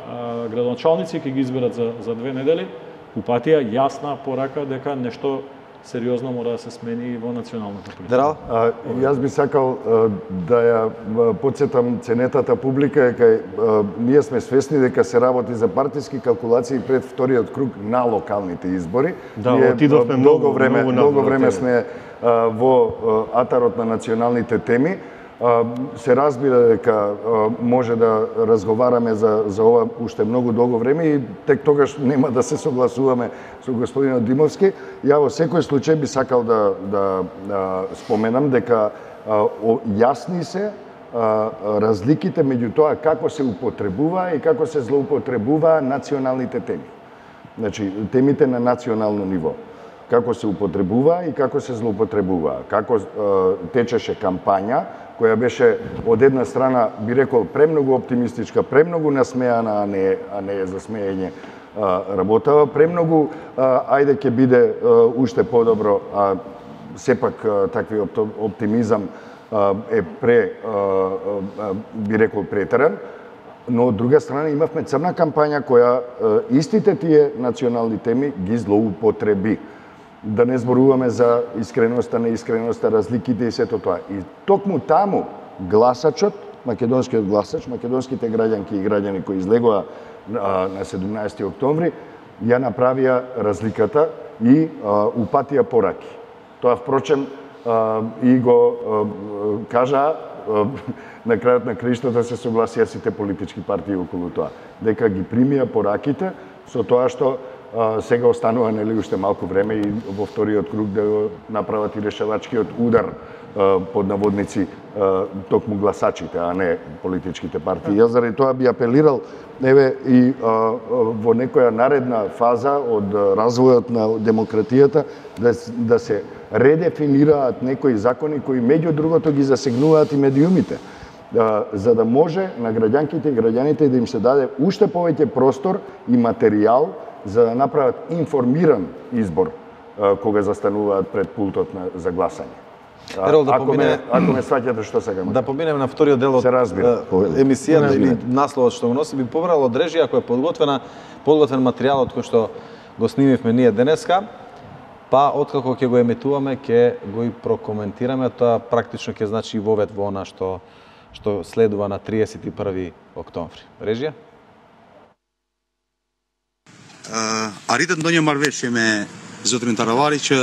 градоначалници ќе ги изберат за 2 недели, упатија јасна порака дека нешто сериозно мора да се смени и во националната политика. Јас би сакал да ја подсетам ценетата публика е кај ние сме свесни дека се работи за партиски калкулации пред вториот круг на локалните избори. Да, отидовме многу време сме во атарот на националните теми. Се разбира дека може да разговараме за ова уште многу долго време и тек тогаш нема да се согласуваме со господинот Димовски. Ја во секој случај би сакал да споменам дека јасни се разликите меѓу тоа како се употребува и како се злоупотребува националните теми. Значи, темите на национално ниво. Како се употребува и како се злоупотребува. Како течеше кампања која беше од една страна, би рекол, премногу оптимистичка, премногу насмеана, а не за смеење работава, премногу ајде ќе биде уште подобро, а сепак такви оптимизам е би рекол претеран, но од друга страна имавме црна кампања која истите тие национални теми ги злоупотреби. Да не зборуваме за искреноста, неискреноста, разликите и сето тоа. И токму таму гласачот, македонскиот гласач, македонските граѓанки и граѓани кои излегоа на 17 октомври, ја направија разликата и упатија пораки. Тоа впрочем и го кажа на крајот на краиштата се согласија сите политички партии околу тоа, дека ги примија пораките со тоа што сега останува нели уште малку време и во вториот круг да го направат и решавачкиот удар под наводници токму гласачите, а не политичките партии. Јас заради тоа би апелирал еве и во некоја наредна фаза од развојот на демократијата да се редефинираат некои закони кои меѓу другото ги засегнуваат и медиумите, за да може на граѓанките и граѓаните да им се даде уште повеќе простор и материјал за да направат информиран избор кога застануваат пред пултот за гласање. Ерол, ако ме сваќате што сега да поминеме на вториот дел од емисијата или насловот што го носи, би побрал од режија која е подготвен материјалот кој што го снимивме ние денеска, па откако ќе го емитуваме ќе го и прокоментираме, тоа практично ќе значи вовед во она што следува на 31 октомври. Режија? Arritët ndonjë marrëveshje me zotrin Taravari që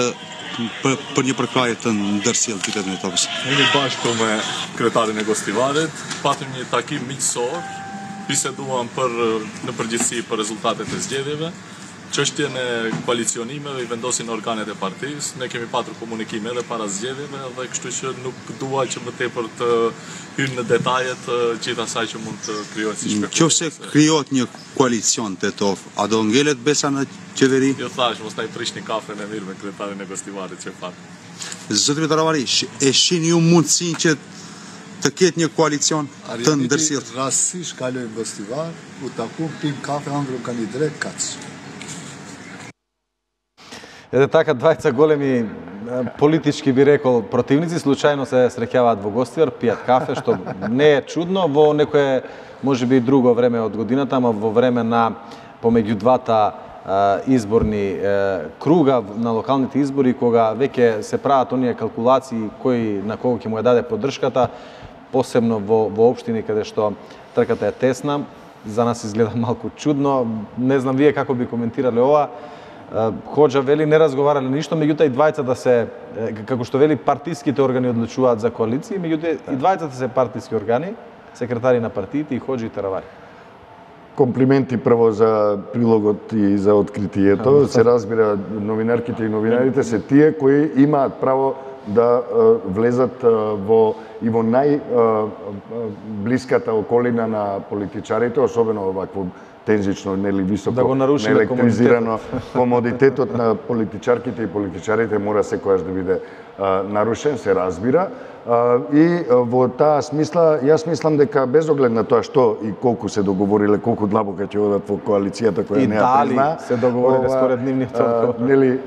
për një përkrahje të ndërsjellë qytetin e Topës. Jemi bashkë me kryetarin e Gostivarit, patëm një takim miqësor, biseduam në përgjithësi për rezultatet e zgjedhjeve, çështjen e koalicionimeve i vendosin organet e partisë. Ne kemi patur komunikime edhe para zgjedhjeve dhe kështu që nuk dua që më tepër të hyrë në detajet gjithë asaj që mund të krijohet si spekullacion. Nëse krijohet një koalicion tetov, a do ngelet Besa në qeveri? Jo thash, mos ta i prishni kafën e mirë me kryetarin e Gostivarit që pat. Zotri Taravari, e shihni ju mundësinë që të ketë një koalicion të ndërsjellë? Rastësisht kaloj në Gostivar, u takum, pim kafe, hangrum kanë i drejt kaç. Еде така, двајца големи политички би рекол противници случајно се среќаваат во Гостивар, пијат кафе, што не е чудно во некое можеби друго време од годината, ама во време на помеѓу двата изборни круга на локалните избори, кога веќе се прават оние калкулации кој на кого ќе му ја даде поддршката, посебно во општини каде што трката е тесна, за нас изгледа малку чудно. Не знам вие како би коментирале ова. Хоџа вели не разговарале ништо, меѓутоа и двајцата се, како што вели, партиските органи одлучуваат за коалиции, меѓутоа и двајцата се партиски органи, секретари на партиите и Хоџа и Таравари. Комплименти прво за прилогот и за откритието. Се разбира, новинарките и новинарите се тие кои имаат право да влезат во најблиската околина на политичарите, особено вакво тензично, нели високо, да го нарушиме неелектризирано комодитетот на политичарките и политичарите мора секогаш да биде нарушен, се разбира. И во таа смисла, јас мислам дека без оглед на тоа што и колку се договориле, колку длабоко ќе одат во коалицијата која не ја призна, се договориле според нивните одговори. Нели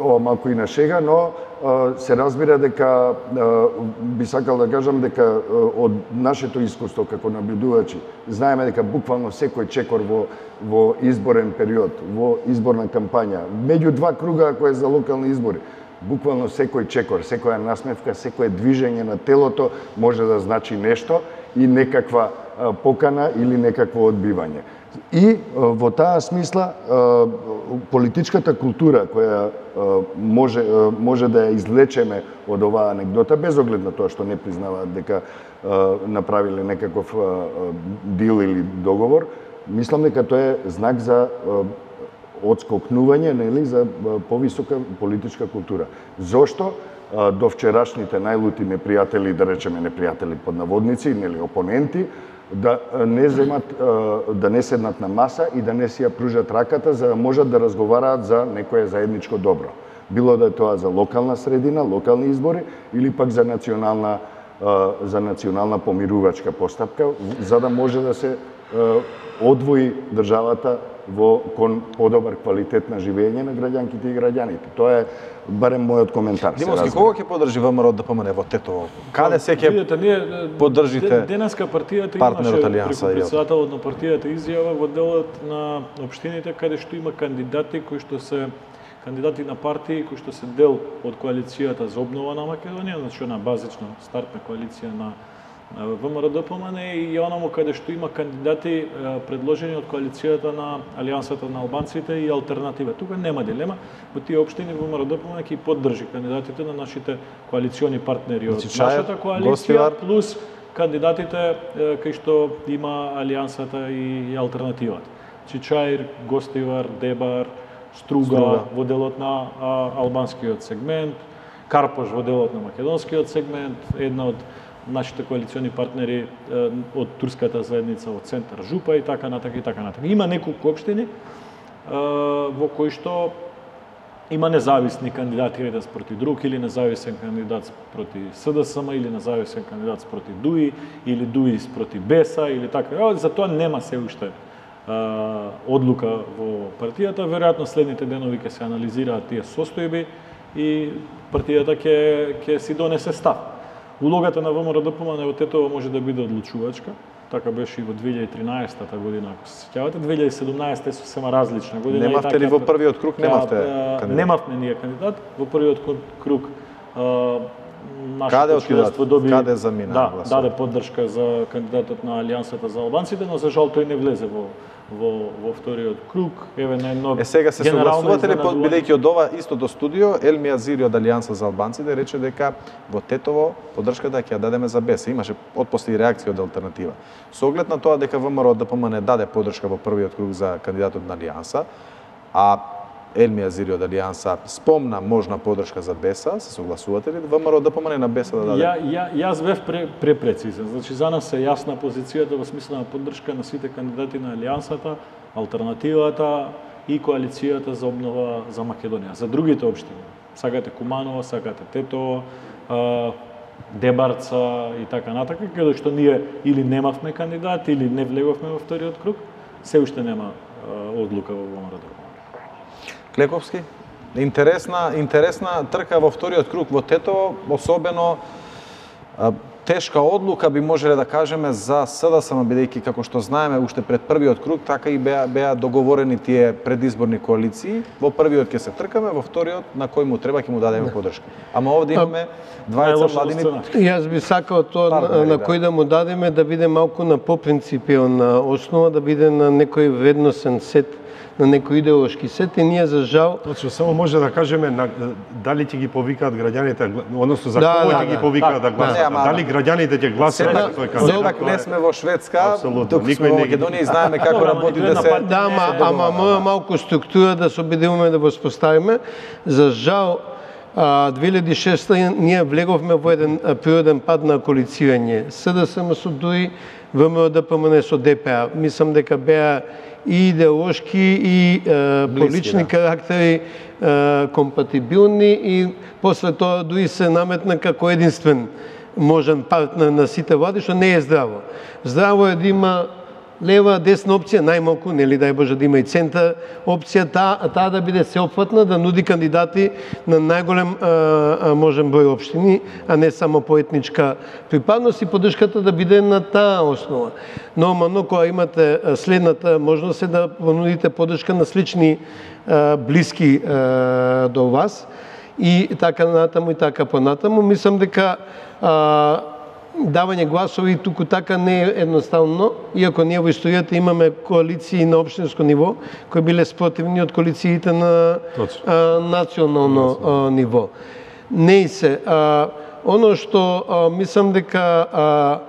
ова малку и на шега, но се разбира дека би сакал да кажам дека од нашето искуство како набљудувачи знаеме дека буквално секој чекор во изборен период, во изборна кампања, меѓу два круга кои е за локални избори, буквално секој чекор, секоја насмевка, секое движење на телото може да значи нешто и некаква покана или некакво одбивање. И во таа смисла политичката култура која може да ја извлечеме од оваа анекдота, без оглед на тоа што не признаваат дека направиле некаков дил или договор, мислам дека тоа е знак за одскокнување, нели, за повисока политичка култура. Зошто до вчерашните најлути непријатели, да речеме непријатели под наводници, нели опоненти, да не седнат на маса и да не си ја пружат раката за да можат да разговараат за некое заедничко добро. Било да е тоа за локална средина, локални избори или пак за национална помирувачка постапка, за да може да се одвои државата кон подобар квалитет на живење на граѓанките и граѓаните. Тоа е барем мојот коментар. Димовски, кого ќе поддржи ВМРО ДПМН во Тетово? Каде се ќе поддржите денеска партијата партнерот имаше Алијанса? Преку председателот на партијата изјава во делот на општините каде што има кандидати кои што се кандидати на партии кои што се дел од коалицијата за обнова на Македонија, значи на базична стартна коалиција на ВМРО ДПМН и онаму каде што има кандидати предложени од коалицијата на Алијансата на албанците и алтернатива. Тука нема дилема, во тие општини ВМРО ДПМН ќе поддржи кандидатите на нашите коалициони партнери од нашата коалиција плюс кандидатите кои што има Алијансата и алтернативата. Чичаир, Гостивар, Дебар, Струга во делот на албанскиот сегмент, Карпош во делот на македонскиот сегмент, една од нашите коалициони партнери од турската заедница од центар Жупа и така натака и така натака. Има неколку општини во кои што има независни кандидати еден спроти друг или независен кандидат спроти СДСМ или независен кандидат спроти ДУИ или ДУИ спроти БЕСА или така. За тоа нема се уште одлука во партијата. Веројатно следните денови ќе се анализираат тие состојби и партијата ќе си донесе став. Улогата на ВМРО ДПМН во Тетово може да биде одлучувачка. Така беше и во 2013 година, ако се сеќавате. 2017 е сосема различна година. Немавте ли во првиот круг? Немавте кандидат? Немавме ние кандидат. Во првиот круг нашето членство доби... Каде замина? Да, даде поддршка за кандидатот на Алијансата за албанците, но за жал тој не влезе во вториот круг. Еве на едно сега се согласувате ли, бидејќи од ова истото студио, Елми Азири од Алијанса за албанците рече дека во Тетово поддршката ќе ја дадеме за БЕС. Имаше отпосле и реакција од алтернатива. Со оглед на тоа дека ВМРО ДПМН даде поддршка во првиот круг за кандидатот на Алијанса, а Елми Азири од Алијанса спомна можна поддршка за БЕСа, се согласувате ли ВМРО ДПМН на БЕСа да даде? Јас бев препрецизен. Значи за нас е јасна позицијата во смисла на поддршка на сите кандидати на Алијансата, алтернативата и коалицијата за обнова за Македонија. За другите општини, сакате Куманово, сакате Тетово, Дебарца и така натака, каде што ние или немавме кандидат или не влеговме во вториот круг, се уште нема одлука во ВМРО ДПМН. Клековски? Интересна трка во вториот круг во Тетово, особено тешка одлука би можеле да кажеме за СДСМ, бидејќи како што знаеме уште пред првиот круг така и беа договорени тие предизборни коалиции. Во првиот ќе се тркаме, во вториот на кој му треба ќе му дадеме подршка. Ама овде имаме двајца владини. Јас би сакал тоа на кој да му дадеме да биде малку на попринципиална основа, да биде на некој вредносен сет, на некој идеолошки сет, и ние за жал... Точно, само може да кажеме дали ќе ги повикаат граѓаните, односно за кого ќе ги повикаат да гласат, дали граѓаните ќе гласат за тој кандидат. Сепак не сме во Шведска, тук сме во Македонија и знаеме како работи да се... Да, ама мора малку структура да се обидуваме да воспоставиме. За жал, 2006 ние влеговме во еден природен пат на коалицирање. СДСМ со ДУИ, ВМРО-ДПМН со ДПА. Мислам дека беа и идеолошки и по лични карактери компатибилни, и после тоа дури се наметна како единствен можен партнер на сите влади, што не е здраво. Здраво е да има лева, десна опција, најмалку, нели дај Боже да има и центар опција, таа да биде сеопфатна, да нуди кандидати на најголем можен број општини, а не само по етничка припадност, и поддршката да биде на таа основа. Нормално, кога имате следната можност е да понудите поддршка на слични блиски до вас, и така натаму и така понатаму. Мислам дека давање гласови туку така не е едноставно, иако ние во историјата имаме коалиции на општинско ниво кои биле спротивни од коалициите на национално ниво. Не се. Оно што мислам дека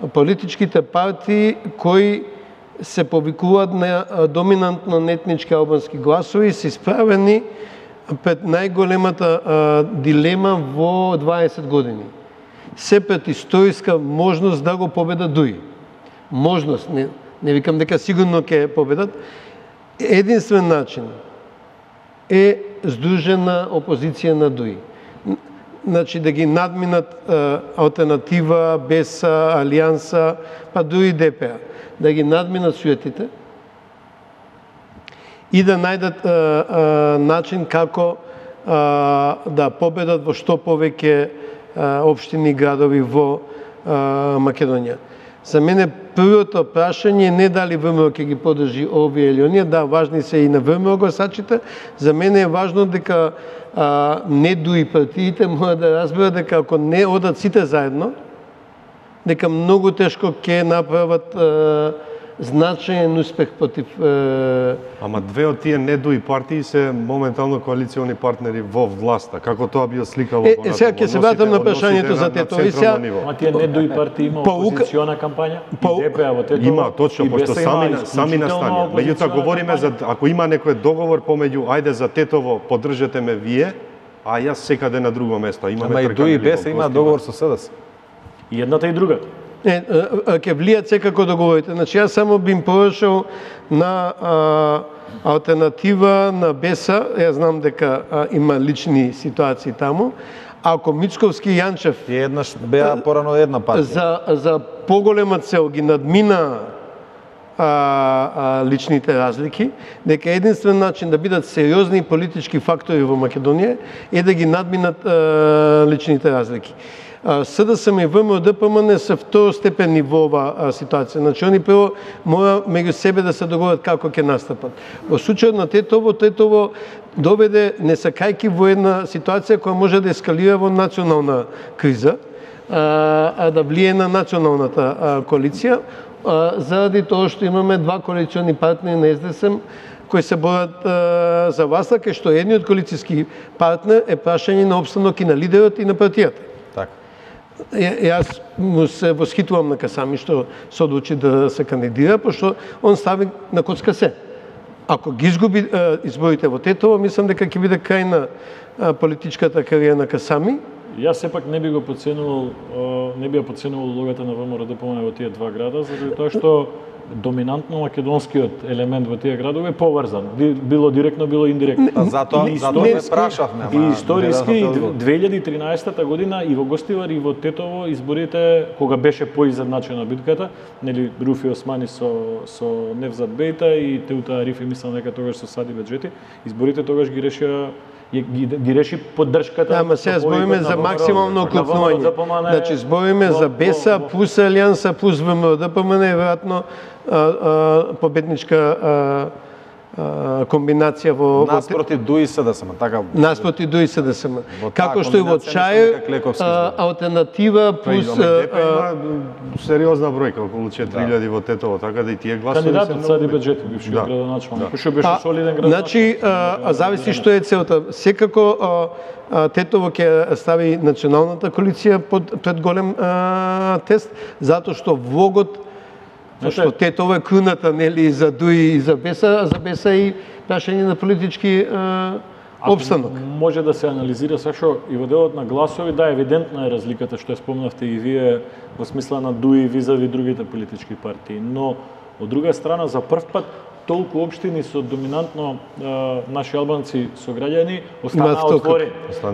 политичките партии кои се повикуваат на доминантно етнички албански гласови се исправени пред најголемата дилема во 20 години. Се пред историска можност да го победат ДУИ. Можност, не викам дека сигурно ќе победат. Единствен начин е здружена опозиција на ДУИ. Значи да ги надминат алтернатива, БЕСА, Алијанса, па дури ДПА. Да ги надминат суетите и да најдат начин како да победат во што повеќе општини и градови во Македонија. За мене првото прашање не дали ВМРО ќе ги поддржи овие или оние, да, важни се и на ВМРО гласачите. За мене е важно дека не дуи партиите мора да разберат дека ако не одат сите заедно, дека многу тешко ќе направат значаен успех против... Ама две од тие недуи партии се моментално коалициони партнери во власта. Како тоа би осликало понатаму? Сега ќе се вратам на прашањето за Тетово. Ама тие недуи партии има опозициона кампања? И ДПА во Тетово? Има, точно, пошто сами настанија. Меѓутоа говориме за ако има некој договор помеѓу ајде за Тетово поддржете ме вие, а јас секаде на друго место. Ама и ДУИ БЕС има договор со СДС. И едната и другата. Ќе влијат секако договорите. Значи, јас само би им порашал на алтернатива на БЕСА, јас знам дека има лични ситуации таму, ако Мицковски и Јанчев еднаш беа порано една партија. За поголема цел ги надмина личните разлики, дека единствен начин да бидат сериозни политички фактори во Македонија е да ги надминат личните разлики. СДСМ и ВМРО-ДПМН се второстепени во оваа ситуација. Значи, они прво мора меѓу себе да се договорат како ќе настапат. Во случајот на Тетово доведе несакајки во една ситуација која може да ескалира во национална криза, да влие на националната коалиција, заради тоа што имаме два коалициони партнери на СДСМ кои се борат за власта, кај што едниот коалицијски партнер е прашање на опстанок и на лидерот и на партијата. Јас му се восхитувам на Касами што се одлучи да се кандидира, пошто он стави на коцка се. Ако ги изгуби изборите во Тетово, мислам дека ќе биде крај на политичката кариера на Касами. Јас сепак не би го подценувал улогата на ВМРО-ДПМН во тие два града, заради тоа што доминантно македонскиот елемент во тие градови е поврзан, било директно, било индиректно. Затоа ме прашавме. И историски 2013 година и во Гостивар и во Тетово изборите кога беше поизедначена битката, нели Руфи Османи со Невзат Бејта и Теута Арифи мислам дека тогаш со Сади Беџети, изборите тогаш ги решија ги реши поддршката. Ама сега збориме за максимално окупнување. Значи збориме за БЕСА плюс Алијанса плюс ВМРО ДПМН е веројатно победничка комбинација во наспроти ДУИ СДСМ, така. Наспроти ДУИ СДСМ. Како што и во ЧАЕ алтернатива плюс сериозна бројка, околу 4000 во Тетово, така да и тие гласови се кандидатот Сади Беџетов, бившиот градоначалник, кој што беше солиден градоначалник. Значи, зависи што е целта. Секако Тетово ќе стави националната коалиција пред голем тест, затоа што влогот што Тетово е круната, нели, за ДУИ и за БЕСА, а за БЕСА и прашање на политички обстанок. Може да се анализира сашо и во делот на гласови, да, евидентна е разликата што ја спомнавте и вие во смисла на ДУИ визави другите политички партии, но од друга страна за прв пат толку општини со доминантно наши албанци сограѓани останаа отворени.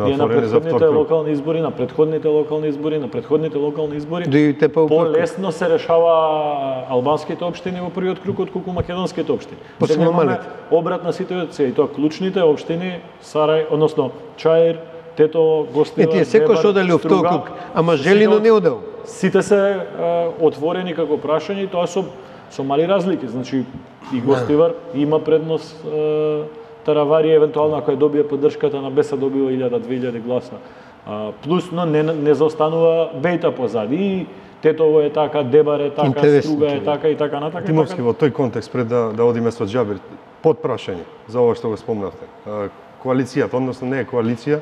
И на предходните локални избори, на предходните локални избори, полесно се решава албанските општини во првиот круг отколку македонските општини. Сега имаме обратна ситуација и тоа клучните општини Сарај, односно Чаир, Тетово, Гостива, тие секој што одели во втор круг, ама Желино не одел. Сите се отворени како прашање и тоа со мали разлики, значи и Гостивар има предност Таравари евентуално ако ја добие поддршката на БЕСА добива 1000-2000 гласа. Плюс но не заостанува Бејта позади и Тетово е така, Дебар е така, Струга е така и така натака. Тимовски во тој контекст пред да одиме со Џабир, под прашање за ова што го спомнавте. Коалицијата, односно не е коалиција,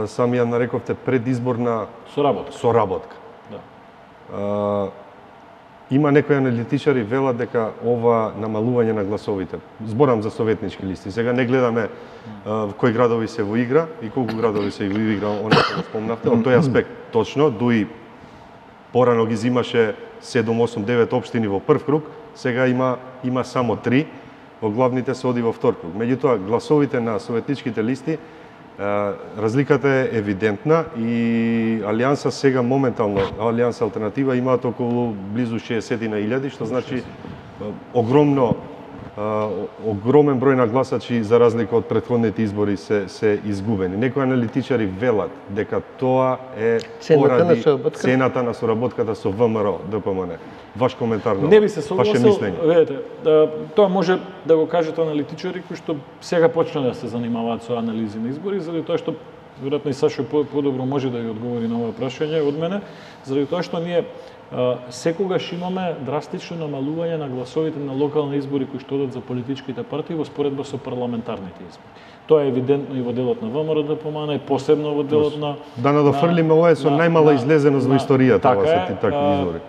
сами ја нарековте предизборна соработка. Да. Има некои аналитичари велат дека ова намалување на гласовите, зборам за советнички листи, сега не гледаме кои градови се во игра и колку градови се во игра, оно што го спомнавте, од тој аспект точно, ДУИ порано ги зимаше 7, 8, 9 општини во прв круг, сега има само 3, во главните се оди во втор круг. Меѓутоа, гласовите на советничките листи, разликата е евидентна и Алијанса сега моментално, Алијанса алтернатива имаат околу близу 60.000, што значи огромен број на гласачи за разлика од претходните избори се изгубени. Некои аналитичари велат дека тоа е поради цената на соработката со ВМРО ДПМН. Ваш коментар на не би се согласил, видете, тоа може да го кажат аналитичари кои што сега почна да се занимаваат со анализи на избори, заради тоа што веројатно и Сашо подобро може да ја одговори на ова прашање од мене, заради тоа што ние секогаш имаме драстично намалување на гласовите на локални избори кои што одат за политичките партии во споредба со парламентарните избори. Тоа е евидентно и во делот на ВМРО ДПМН и посебно во делот на да надофрлиме ова е со најмала излезеност во историјата ова се такви избори.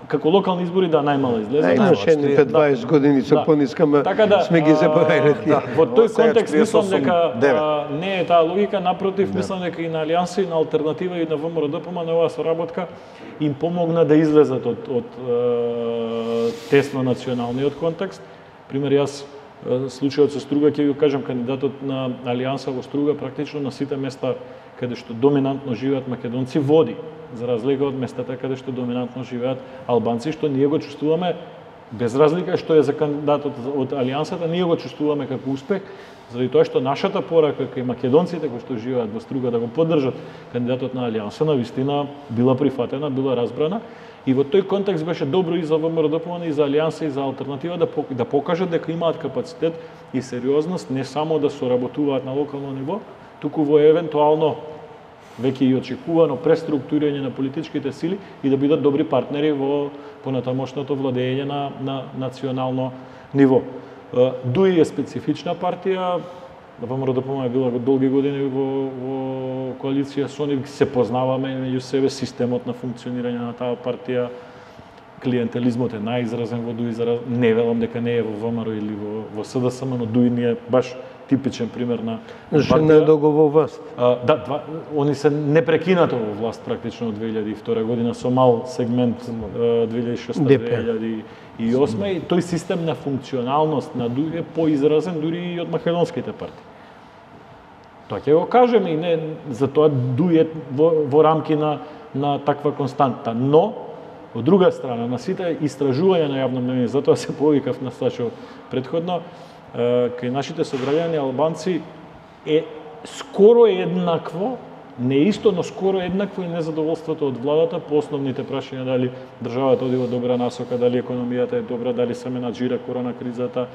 Како локални избори да најмала излезеност. Имаше пред 20 години со пониска, сме ги заборавиле тие. Во тој контекст мислам дека не е таа логика, напротив мислам дека и на Алијанса и на алтернатива и на ВМРО ДПМН оваа соработка им помогна да излезат од тесно националниот контекст. Пример јас случајот со Струга ќе ви го кажам, кандидатот на Алијанса во Струга практично на сите места каде што доминантно живеат македонци води, за разлика од местата каде што доминантно живеат албанци, што ние го чувствуваме без разлика што е за кандидатот од Алијансата, ние го чувствуваме како успех, заради тоа што нашата порака кај македонците кои што живеат во Струга да го поддржат кандидатот на Алијанса навистина била прифатена, била разбрана. И во тој контекст беше добро и за ВМРО ДПМН, и за Алијанса, и за алтернатива да покажат дека имаат капацитет и сериозност не само да соработуваат на локално ниво, туку во евентуално веќе и очекувано преструктурирање на политичките сили и да бидат добри партнери во понатамошното владење на национално ниво. ДУИ е специфична партија, ВМРО ДПМН е била долги години во коалиција со нив, се познаваме меѓу себе, системот на функционирање на таа партија, клиентелизмот е најизразен во ДУИ, не велам дека не е во ВМРО или во СДСМ, но ДУИ не е баш типичен пример на партија. Не е долго во власт. Да, они се непрекинато во власт практично од 2002 година со мал сегмент 2006-2008 и тој систем на функционалност на ДУИ е поизразен дури и од македонските партии. Тоа ќе го кажеме и не за тоа ДУИ е во рамки на таква константа, но од друга страна на сите истражувања на јавно мнение, затоа се повикав на Сашо предходно, кај нашите сограѓани албанци е скоро еднакво, не исто, но скоро еднакво и незадоволството од владата по основните прашања, дали државата оди во добра насока, дали економијата е добра, дали се менаџира корона кризата.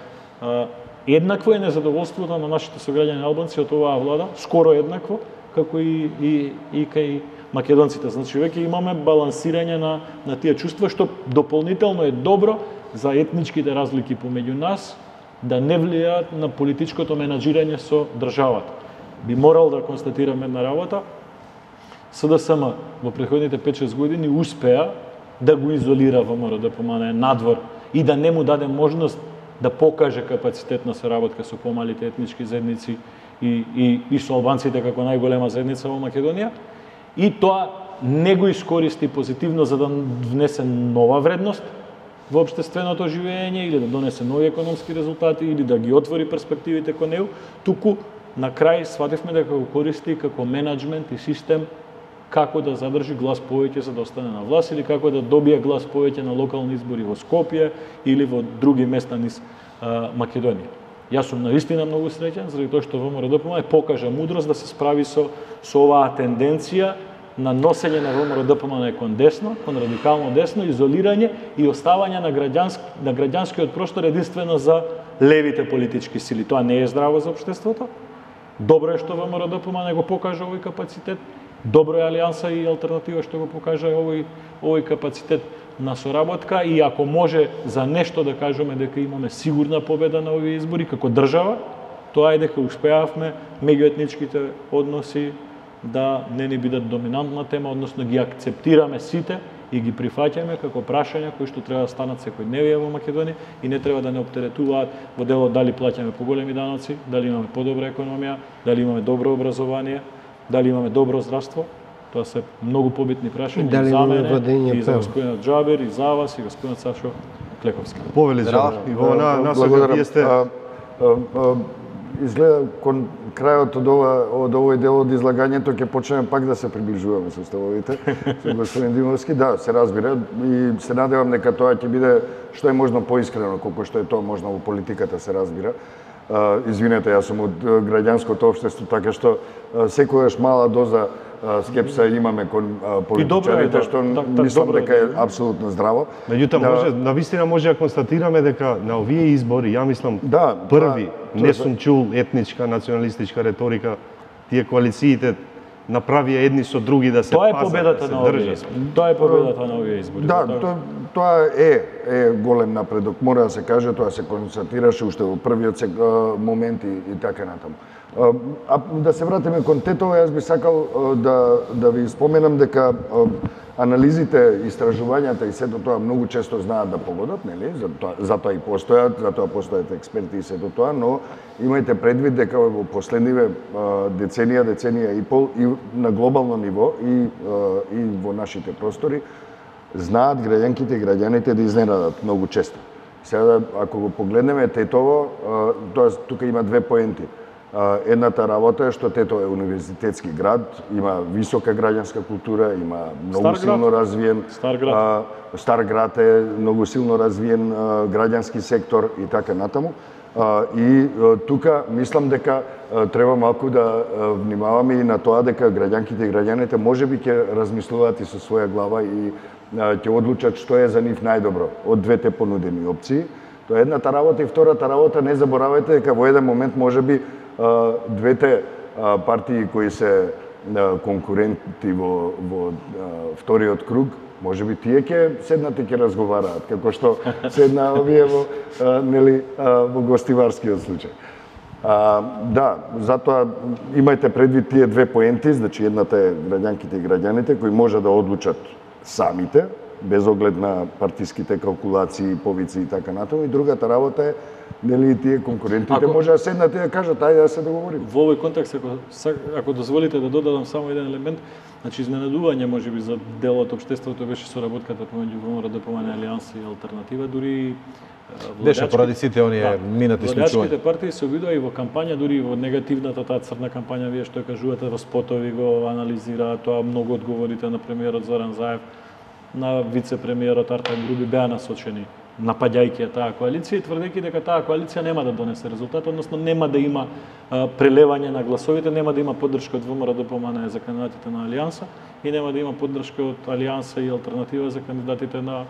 Еднакво е незадоволството на нашите сограѓани албанци од оваа влада, скоро еднакво, како и кај македонците. Значи, веќе имаме балансирање на тие чувства, што дополнително е добро за етничките разлики помеѓу нас, да не влијаат на политичкото менаџирање со државата. Би морал да констатираме една работа. СДСМ во претходните 5-6 години успеа да го изолира ВМРО-ДПМН надвор и да не му даде можност да покаже капацитет на соработка со помалите етнички заедници и со албанците како најголема заедница во Македонија. И тоа не го искористи позитивно за да внесе нова вредност во општественото живење или да донесе нови економски резултати или да ги отвори перспективите кон него, туку на крај свативме дека го користи како менеджмент и систем како да задржи глас повеќе за да остане на власт или како да добие глас повеќе на локални избори во Скопје или во други места низ Македонија. Јас сум навистина многу среќен заради тоа што ВМРО-ДПМН покажа мудрост да се справи со оваа тенденција на носење на ВМРО-ДПМН кон десно, кон радикално десно, изолирање и оставање на граѓанскиот простор единствено за левите политички сили. Тоа не е здраво за општеството. Добро е што ВМРО-ДПМН го покажа овој капацитет. Добро е Алијанса и Алтернатива што го покажа овој капацитет на соработка и ако може за нешто да кажеме дека имаме сигурна победа на овие избори како држава, тоа е дека успеавме меѓуетничките односи да не ни бидат доминантна тема, односно ги акцептираме сите и ги прифаќаме како прашања кои што треба да станат секојдневие во Македонија и не треба да не оптеретуваат во делот дали плаќаме поголеми даноци, дали имаме подобра економија, дали имаме добро образование, дали имаме добро здравство. Тоа се многу побитни прашања и за мене, и за господинот Џабер, и за вас, и господинот Сашо Клековски. Повели Џабер, и во насока вие сте... Изгледа кон крајот од овој дел од излагањето ќе почнеме пак да се приближуваме со ставовите со господин Димовски. Да, се разбира и се надевам дека тоа ќе биде што е можно поискрено, колку што е тоа можно во политиката, се разбира. Извинете, јас сум од граѓанското општество, така што секогаш мала доза скепса имаме кон политичарите, што мислам дека е апсолутно здраво. Меѓутоа, навистина може да констатираме дека на овие избори, ја мислам, први не сум чул етничка, националистичка реторика, тие коалициите направија едни со други да се пазат, да се држат. Тоа е победата на овие избори. Да, тоа е голем напредок, мора да се каже, тоа се констатираше уште во првиот момент и така натаму. А да се вратиме кон Тетово, јас би сакал да ви споменам дека анализите, истражувањата и сето тоа многу често знаат да погодат, нели? Затоа и постојат, затоа постојат експерти и сето тоа, но имајте предвид дека во последниве деценија и пол и на глобално ниво и во нашите простори знаат граѓанките и граѓаните да изненадат многу често. Сега ако го погледнеме Тетово, тоа тука има две поенти. Едната работа е што Тетово е универзитетски град, има висока граѓанска култура, има многу силно развиен Стар град е многу силно развиен граѓански сектор и така натаму. И тука мислам дека треба малку да внимаваме и на тоа дека граѓанките и граѓаните можеби ќе размислуваат и со своја глава и ќе одлучат што е за нив најдобро од двете понудени опции. Тоа е едната работа и втората работа, не заборавајте дека во еден момент можеби двете партии кои се конкуренти во вториот круг, можеби тие ќе седнат и ќе разговараат, како што седна овие во гостиварскиот случај. Да, затоа имајте предвид тие две поенти, значи едната е граѓанките и граѓаните кои може да одлучат самите, без оглед на партиските калкулации, повици и така натаму, и другата работа е нели тие конкурентите може да седнат и да кажат ајде да се договориме. Во овој контекст, ако дозволите да додадам само еден елемент, значи изненадување можеби за дел од општеството беше соработката помеѓу ВМРО-ДПМН, Алијанса и Алтернатива, дури беше поради сите оние минати случаи. Владачките партии се обидоа и во кампања, дури и во негативната таа црна кампања, вие што кажувате во спотови го анализираат тоа, многу одговорите на премиерот Зоран Заев, на вице-премиерот Артем Груби беа насочени напаѓајќи таа коалиција и тврдејќи дека таа коалиција нема да донесе резултат, односно нема да има прелевање на гласовите, нема да има поддршка од ВМРО-ДПМН за кандидатите на Алијанса и нема да има поддршка од Алијанса и алтернатива за кандидатите на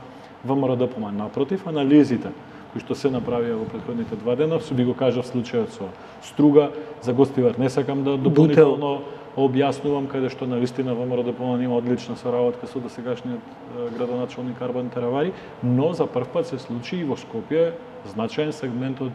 ВМРО-ДПМН. Напротив, анализите кои што се направија во претходните 2 дена, би го кажав случајот со Струга, за Гостивар не сакам да дополнително објаснувам, каде што навистина ВМРО-ДПМН има одлична соработка со досегашниот градоначалник Арбан Теравари, но за прв пат се случи и во Скопје значаен сегмент од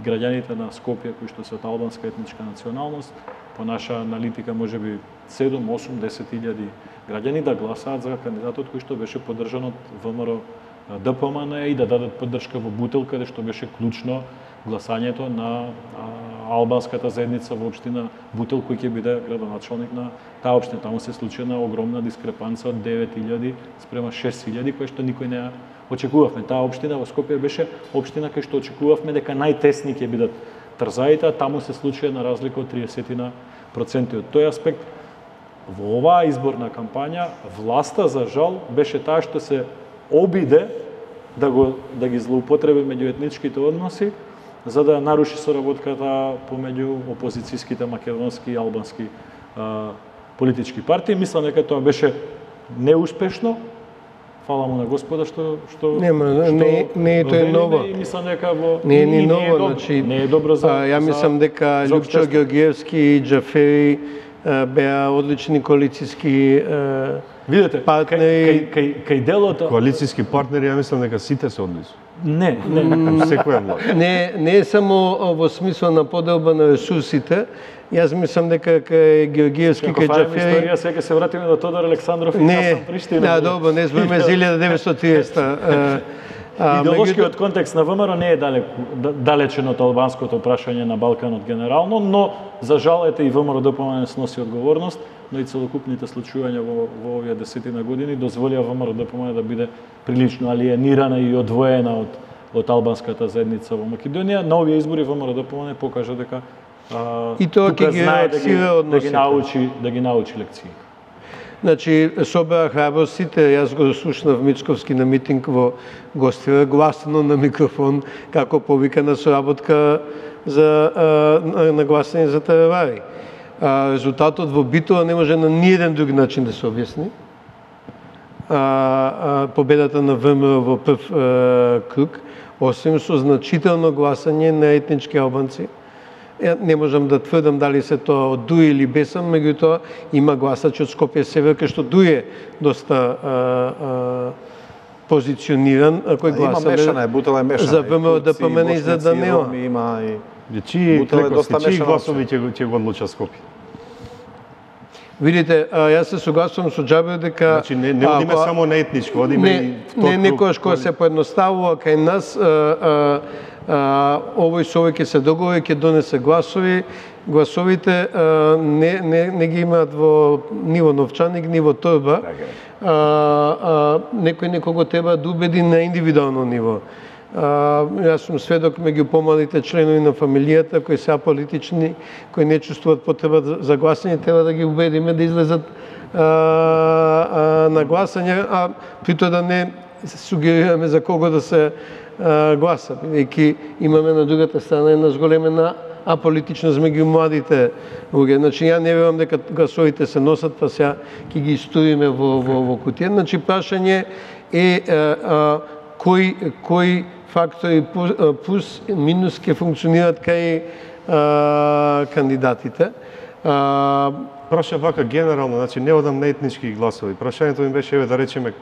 граѓаните на Скопје кои што се од албанска етничка националност, по наша аналитика можеби 7, 8, 10 илјади граѓани да гласаат за кандидатот кој што беше поддржан од ВМРО-ДПМН и да дадат поддршка во Бутел, каде што беше клучно гласањето на албанската заедница во општина Бутел, кој ќе биде градоначалник на таа општина. Таму се случи една огромна дискрепанца од 9.000 спрема 6.000, која што никој не очекувавме. Таа општина во Скопје беше општина кај што очекувавме дека најтесни ќе бидат трзаите, а таму се случи една разлика од 30%. Од тој аспект, во оваа изборна кампања, власта, за жал, беше таа што се обиде да ги злоупотреби меѓуетничките односи, за да наруши соработката помеѓу опозицијските македонски и албански политички партии. Мислам дека тоа беше неуспешно. Фала му на Господа што не е тоа ново. И мислам дека не е ново, значи не е добро за ја мислам дека Љупчо Ѓорѓиевски и Џафери беа одлични коалицијски видете партнери. Кај делото коалицијски партнери, ја мислам дека сите се одлични. Не. Секоја власт. Не е само во смисла на поделба на ресурсите. Јас мислам дека кај Ѓорѓиевски, кај Џафери... Историја, сега се вратиме до Тодор Александров и Хасан Приштина. Да, добро, не сме за 1930. Идеолошкиот контекст на ВМРО не е далечен од албанското прашање на Балканот генерално, но за жал ете и ВМРО-ДПМН сноси одговорност, но и целокупните случувања во овие 10 години дозволија ВМРО-ДПМН да биде прилично алиенирана и одвоена од албанската заедница во Македонија. На овие избори ВМРО-ДПМН покажа дека и тоа ќе ги реакцира односите. Да ги научи лекции. Значи, собра храбростите, јас го слушнав Мицковски на митинг во Гостивар, гласно на микрофон, како повика на соработка на гласање за Теравари. Резултатот во Битола не може на ниеден друг начин да се објасни. Победата на ВМРО во прв круг, освен со значително гласање на етнички албанци. Не можам да тврдам дали се тоа од Дуј или Бесам, меѓутоа има гласачи од Скопје Север, кај што Дуј е доста позициониран, кој гласале за ВМРО-ДПМН и за Данила. Чии гласови ќе го одлучат Скопје? Видите, јас се согласувам со Џабер дека... Значи, не одиме само на етничко, одиме и втор круг. Некојаш кој се поедноставува кај нас, овој со овој ќе се договори, ќе донесе гласови. Гласовите не ги имаат во ниво новчаник, ниво торба. Некој некого треба да убеди на индивидуално ниво. Јас сум сведок меѓу помалите членови на фамилијата кои се аполитични, кои не чувствуваат потреба за гласање, треба да ги убедиме да излезат на гласање, а при тоа да не сугерираме за кого да се гласа, бидејќи имаме на другата страна една зголемена аполитичност меѓу младите луѓе. Значи, ја не верувам дека гласовите се носат, па сега ќе ги истуриме во кутија. Значи, прашање е кои фактори плюс минус ќе функционираат кај кандидатите. Праша вака генерално, значи не одам на етнички гласови. Прашањето ми беше, еве да речеме,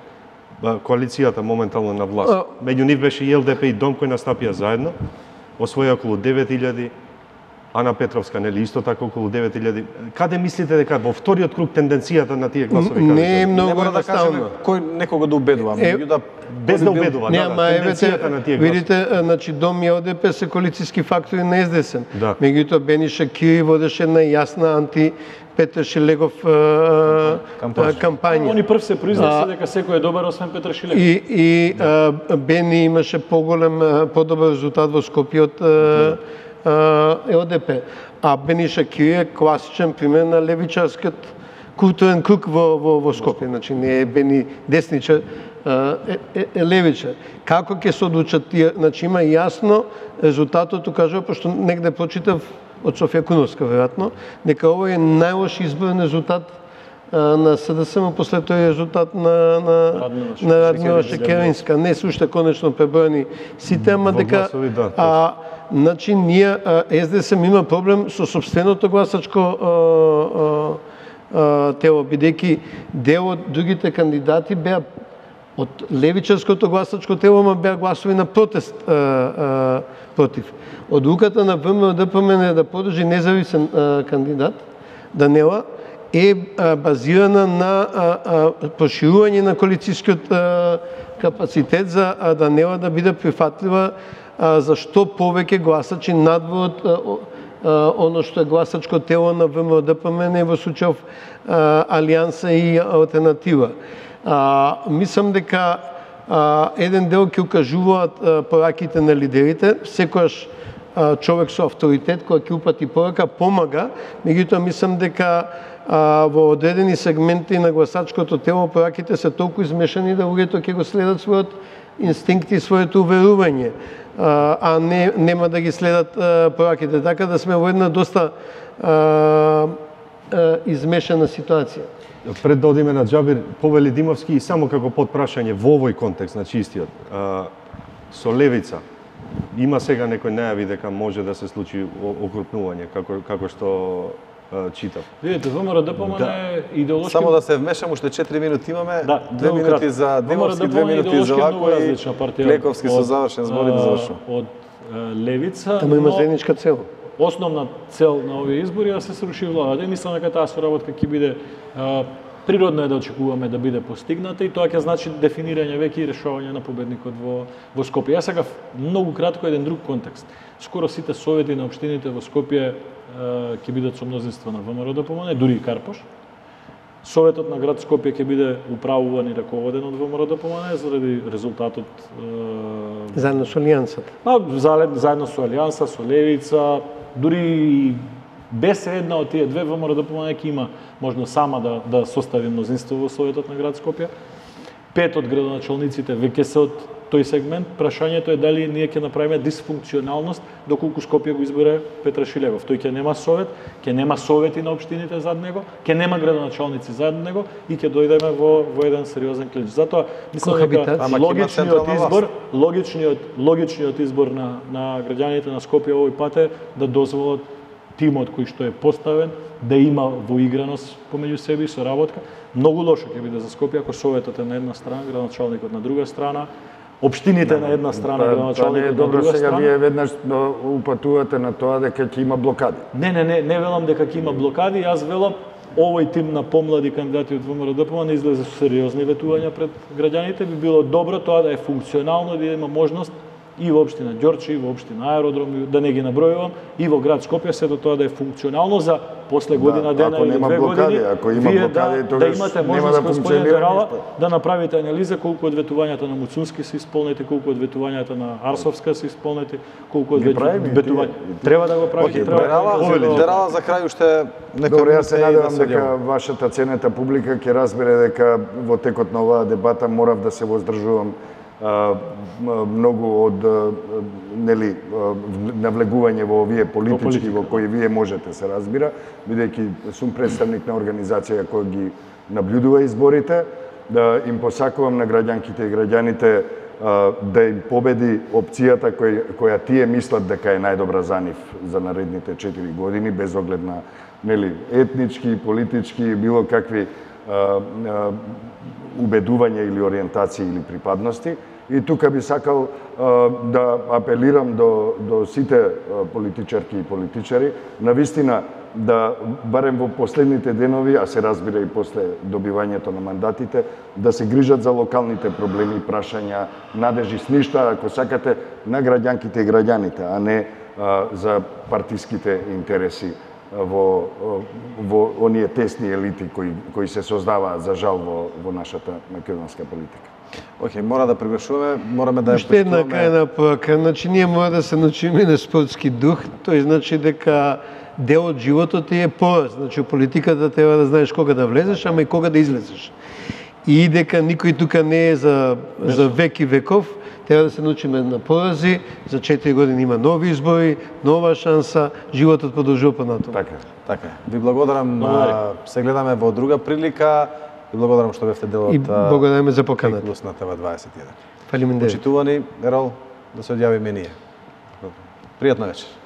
коалицијата моментално на власт. Меѓу нив беше и ЛДП и Дом кои настапија заедно, освоја околу 9.000, Ана Петровска, нели, исто така околу 9.000. Каде мислите дека во вториот круг тенденцијата на тие гласови? Не е многу едноставно. Кој некого да убедува, без да убедува, тенденцијата на тие гласови. Видите, значи Дом и ЛДП се коалицијски фактори на СДСМ. Меѓутоа Бениша Кири водеше една јасна Петар Шилегов кампања. Они прв се произнесе дека секој е добар освен Петар Шилегов. И Бени имаше подобар резултат во Скопје од ЛДП. А Бениша Кири е класичен пример на левичарскиот културен круг во Скопје, значи не е бени десничар, е левичар. Како ќе се одлучат тие, значи има јасно резултатот, кажува, пошто негде прочитав од Софија Куновска, веројатно, дека овој е најлош изборен резултат на СДСМ после тој резултат на Радмила Шекеринска. Не се уште конечно преброени сите, ама дека значи ние СДСМ има проблем со сопственото гласачко тело, бидејќи дел од другите кандидати беа од левичарското гласачко тело, ма беа гласови на протест против. Одлуката на ВМРО-ДПМН да подржи независен кандидат, Данела, е базирана на проширување на коалицијскиот капацитет за Данела да биде прифатлива за што повеќе гласачи надвор оно што е гласачко тело на ВМРО-ДПМН во случајов Алијанса и Алтернатива. Мислам дека еден дел ќе укажуваат пораките на лидерите, секојаш човек со авторитет кој ќе упати порака помага, меѓутоа мислам дека во одредени сегменти на гласачкото тело пораките се толку измешани да луѓето ќе го следат својот инстинкт и своето уверување, а нема да ги следат пораките. Така да сме во една доста измешана ситуација. Пред да одиме на Џабир, повели Димовски и само како подпрашање во овој контекст, значи истиот, со левица, има сега некој најави дека може да се случи окрупнување, како што читав. Видите, ВМРО-ДПМН е идеолошки... Само да се вмешам, уште 4 минути имаме, 2 минути за Димовски, 2 минути за Вако и Клековски со завршен збор и да завршам. Од левица, Тamo има заедничка цел. Основна цел на овие избори е да се сруши владата. Мислам дека таа соработка ќе биде природно е да очекуваме да биде постигната и тоа ќе значи дефинирање веќе и решавање на победникот во Скопје. Јас сега многу кратко еден друг контекст. Скоро сите совети на општините во Скопје ќе бидат со мнозинство на ВМРО-ДПМН, дури и Карпош. Советот на град Скопје ќе биде управуван и раководен од ВМРО-ДПМН заради резултатот заедно со Алијансата. Заедно со Алијанса, со Левица, дури без една од тие две ВМРО-ДПМН ќе има можност сама да состави мнозинство во Советот на град Скопје. 5 од градоначалниците веќе се од тој сегмент. Прашањето е дали ние ќе направиме дисфункционалност доколку Скопје го избере Петра Шилевов. Тој ќе нема совет, ќе нема совети на општините зад него, ќе нема градоначалници зад него и ќе дојдеме во еден сериозен клинч. Затоа мислам дека логичниот избор на граѓаните на Скопје овој пат е да дозволат тимот кој што е поставен да има воиграност помеѓу себе и соработка. Многу лошо ќе биде за Скопје ако советот е на една страна, градоначалникот на друга страна, општините на една страна, градоначалникот на друга страна. Сега вие веднаш упатувате на тоа дека ќе има блокади. Не велам дека ќе има блокади, јас велам овој тим на помлади кандидати од ВМРО-ДПМН излезе со сериозни ветувања пред граѓаните, би било добро тоа да е функционално, да има можност и во општина Ѓорче, и во општина Аеродром, да не ги набројувам, и во град Скопје, сето тоа да е функционално за после година дена или 2 години, вие да имате можност, господин Дерала, да направите анализа колку од ветувањата на Муцунски се исполнети, колку од ветувањата на Арсовска се исполнети, колку од ветувањата. Треба да го правите. Дерала, за крај уште нека... Добре, јас се надевам дека вашата ценета публика ќе разбере дека во текот на оваа дебата морав да се воздржувам многу од навлегување во овие политички во кои вие можете се разбира, бидејќи сум представник на организација која ги наблюдува изборите, да им посакувам на граѓанките и граѓаните да им победи опцијата која тие мислат дека е најдобра за нив за наредните 4 години, без оглед на етнички, политички, било какви убедувања или ориентации или припадности. И тука би сакал да апелирам до сите политичарки и политичари, навистина да барем во последните денови, а се разбира и после добивањето на мандатите, да се грижат за локалните проблеми, прашања, надежи, сништа, ако сакате, на граѓанките и граѓаните, а не за партиските интереси во оние тесни елити кои се создаваат за жал во нашата македонска политика. Океј, мора да прегрешуваме, мораме да ја Уште една крајна порука, значи ние мора да се научиме на спортски дух, тој значи дека дел од животот ти е пораз. Значи, политиката треба да знаеш кога да влезеш, ама и кога да излезеш. И дека никој тука не е за век и веков, треба да се научиме на порази, за 4 години има нови избори, нова шанса, животот продолжува понатаму. Така е. Ви благодарам, се гледаме во друга прилика и благодарам што бевте дел од и благодариме за поканата. Плюс на ТВ21. Фалиме. Почитувани, Ерол, да се одјавиме ние. Пријатна вечер.